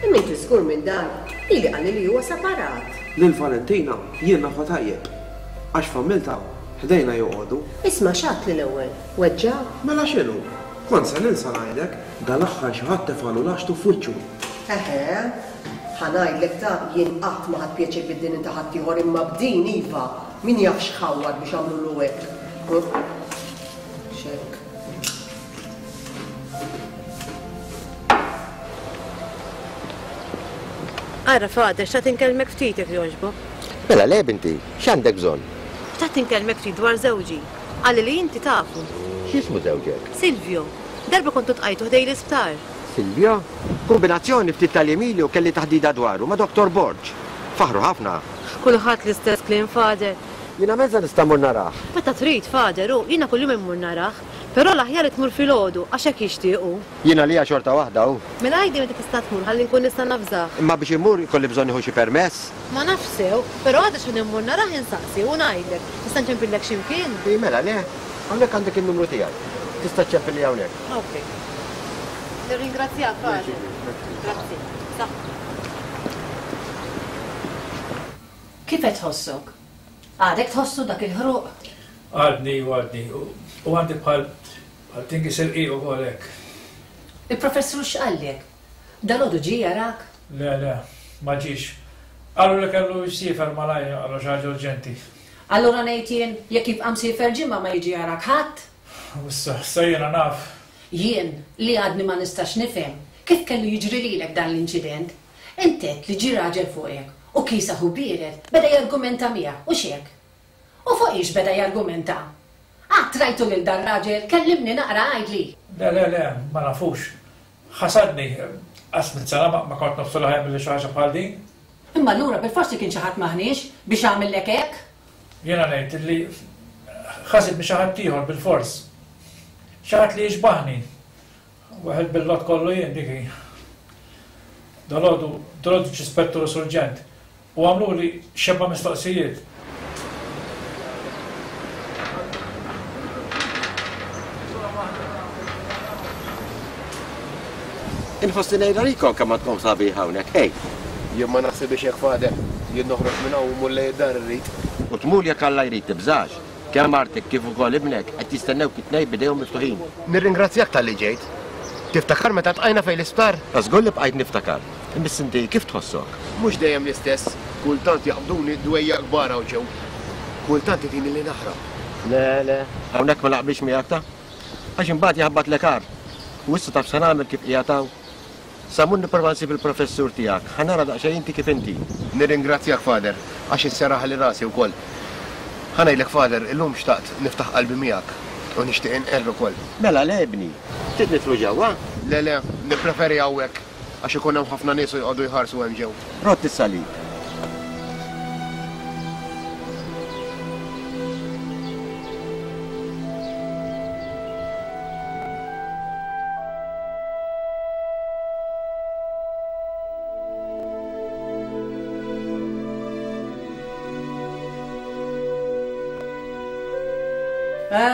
Imma inti żgur minn dan? Lili qalli li huwa separat. Lil Valentina jien nafha tajjeb. Għax familtha ħdejna joqogħdu. Isma' x'għedtli l-ewwel? Weġġa'? Mela x'inhu? Kont se ninsa ngħidlek, dal-aħħar xi ħadd tefagħlu laxtu f'wiċċu. Eħe. Ħa ngħidlek ta' jien qatt ma ħadt pjaċir bid-dini ta' ħaddieħor imma b'din iva! Min jaf x'ħawwad biex għamlulu hekk. X'hekk. Ara, Father, xtaqt inkellmek ftit jekk jogħġbok. Mela le, binti, x'għandek bżonn? Xtaqt inkellmek ftit dwar żewġi. Qalli li inti tafu. X'jismu żewġek? Silvio. Darba kontu tqajtu ħdej l-isptar. Silvio? Kumbinazzjoni ftit tal-jiem ilu kelli taħdida dwaru ma' Dottor Borg. Faħħru ħafna. Kulħadd l-istess kliem, Father. Jiena mezza nista' mmur narah. Meta trid, Father, u jiena kuljum immur narah. Però l-aħjar li tmur filgħodu, għax hekk jixtieq hu. Jien għalija xorta waħda, hu. Mela għidli meta tista' tmur ħalli nkun nista' navżah. Imma biex immur ikolli bżonn nieħu xi permess? Ma nafx sew, però għada x'ħin immur narah insaqsi u ngħidlek. Nista' nċempillek xi mkien? Ii mela le, hawnhekk għandek in-numru tiegħi. Tista' ċċempilli hawnhekk. Ok. Nirringrazzjak, Father. Grazzi. Saħħa. Kif qed tħossok? Għadek tħossu dak il-ħruq? Għadni u għadni. U għandi bħal bħal tingiż irqiq ukoll hekk. Il-professur x'qallek? Dalgħodu ġie jarak? Le, le, ma ġiex. Qalu li kellu jsiefer malajr għal xi ħaġa urġenti. Allura ngħid jien, jekk jibqa' msiefer ġimgħa ma jiġi jarak ħadd? U issa, issa jiena naf. Jien, li għadni ma nistax nifhem, kif kellu jiġri lilek dan l-inċident? Int għedt li ġie raġel fuqek u kiesaħ u biered beda jargumenta miegħek, hux hekk? U fuq hiex beda jargumenta? Qatt rajtu lil dar-raġel? Kellimni naqra għidli! Le, le, le, ma nafux. Ħasadni. Qas mitt sena ma kont nobsor li ħa jagħmilli xi ħaġa bħal din. Imma allura bilfors li kien xi ħadd m'aħniex biex għamillek hekk? Jiena ngħid li ħasidni xi ħadd ieħor bilfors. Xi ħadd li jixbahni. Weħel bil-lott kollu jien dik hi. Dalgħodu, dalgħodu ġie spettur u surġent u għamluli xebgħa mistoqsijiet. Inħossni ngħid għalikom kemm għandkom sabiħ hawnhekk, ej! Jien ma naħsibhiex hekk Father. Jien noħroġ minn hawn u mmur lejn id-dar irrid. U tmur jekk Alla jrid tibżax. Kemm martek kif ukoll ibnek qed jistennewk it-tnejn b'idejhom miftuħin. Nirringrazzjak talli ġejt. Tiftakar meta tqajna fejn l-isptar? Ta' żgur li bqajt niftakar. Imma inti kif tħossok? Mhux dejjem l-istess. Kultant jaqbduni dwejjaq kbar hawn ġew. Kultant itini li naħrab. Le, le, hawnhekk ma naqbilx miegħek ta'. Għax imbagħad jaħbatlek agħar. U issa taf x'se nagħmel kif qiegħed hawn? Sa mmur nipprova nsib il-professur tiegħek, ħa nara daqsxejn inti kif inti. Nirringrazzjak Father, għax isserraħli rasi wkoll. Ħa ngħidlek Father, illum xtaqt niftaħ qalbi miegħek u nixtieq inqerr ukoll. Mela le ibni, trid nidħlu ġewwa? Le le, nippreferi hawnhekk għax ikun hemm ħafna nies u joqogħdu jħarsu hemm ġew. Rodd is-salib.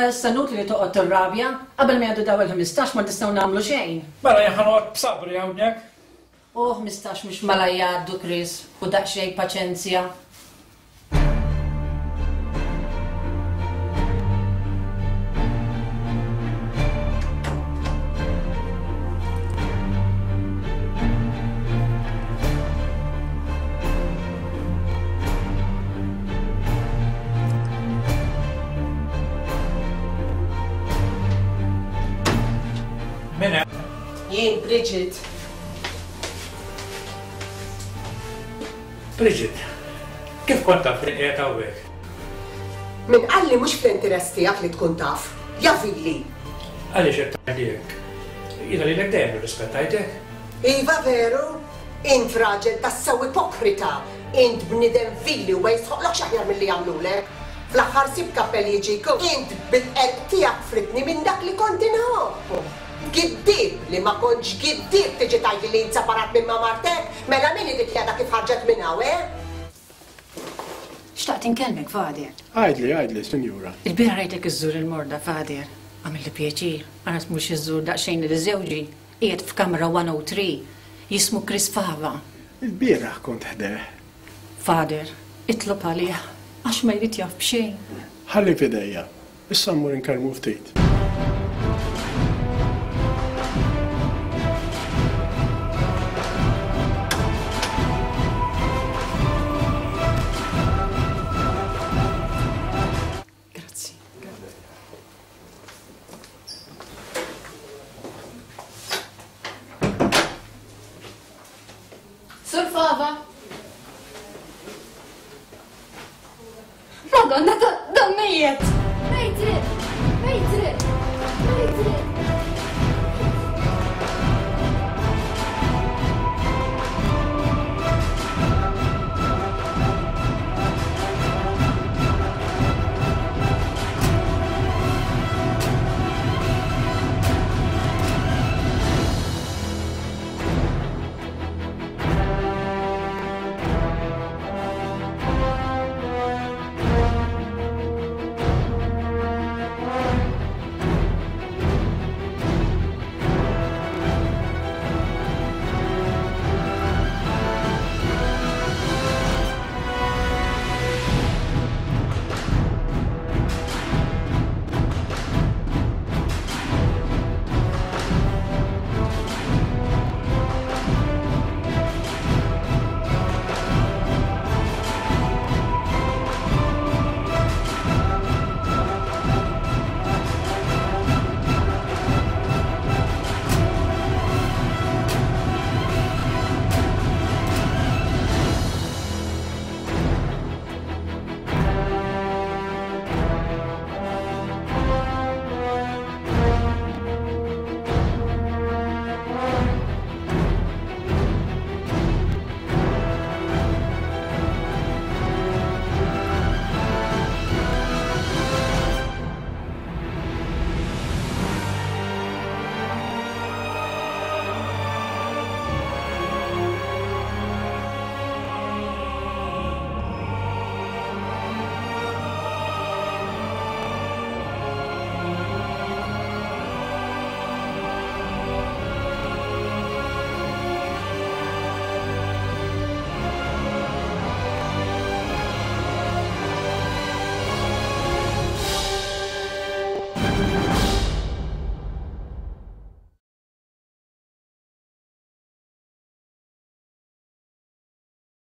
Issa inutli li toqgħod tirrabja, qabel ma jgħaddu daw il-15 ma nistgħu nagħmlu xejn. Mela jien ħa noqgħod b'sabri hawnhekk. U 15 mhux malajr jgħaddu Chris, u daqsxejn paċenzja. Jien Bridget. Bridget, kif kont taf li qiegħed hawnhekk? Min qalli mhux fl-interess tiegħek li tkun taf. Ja vili! Għaliex qed tgħidli hekk? Jiena lilek dejjem irrispettajtek. Iva veru? Int raġel tassew ipokrita! Int bniedem vili u ma jistħoqqlokx aħjar milli jagħmlulek. Fl-aħħar sib kappell jiġik u int bil-qerq tiegħek fridtni minn dak li kont inħobb. Giddieb li ma kontx giddieb tiġi tgħidli li int separat minn ma' martek? Mela min hi dik li għadha kif ħarġet minn hawn, eh? Xtaqt inkellmek, Father. Għidli, għidli, sinjura. Il-bieraħ rajtek iżżur il-morda, Father. Għamilli pjaċir, ara tmurx iżżur daqsxejn lil żewġi. Qiegħed f'kamra 103. Jismu Chris Fava. Il-bieraħ kont ħdejh. Father, itlob għalih, għax ma jrid jaf b'xejn. Ħalli f'idejja. Issa mmur inkellmu ftit. Grazzi. Sur Fava! Madonna, dan mejjet! Mejtri! Mejtri! Mejtri!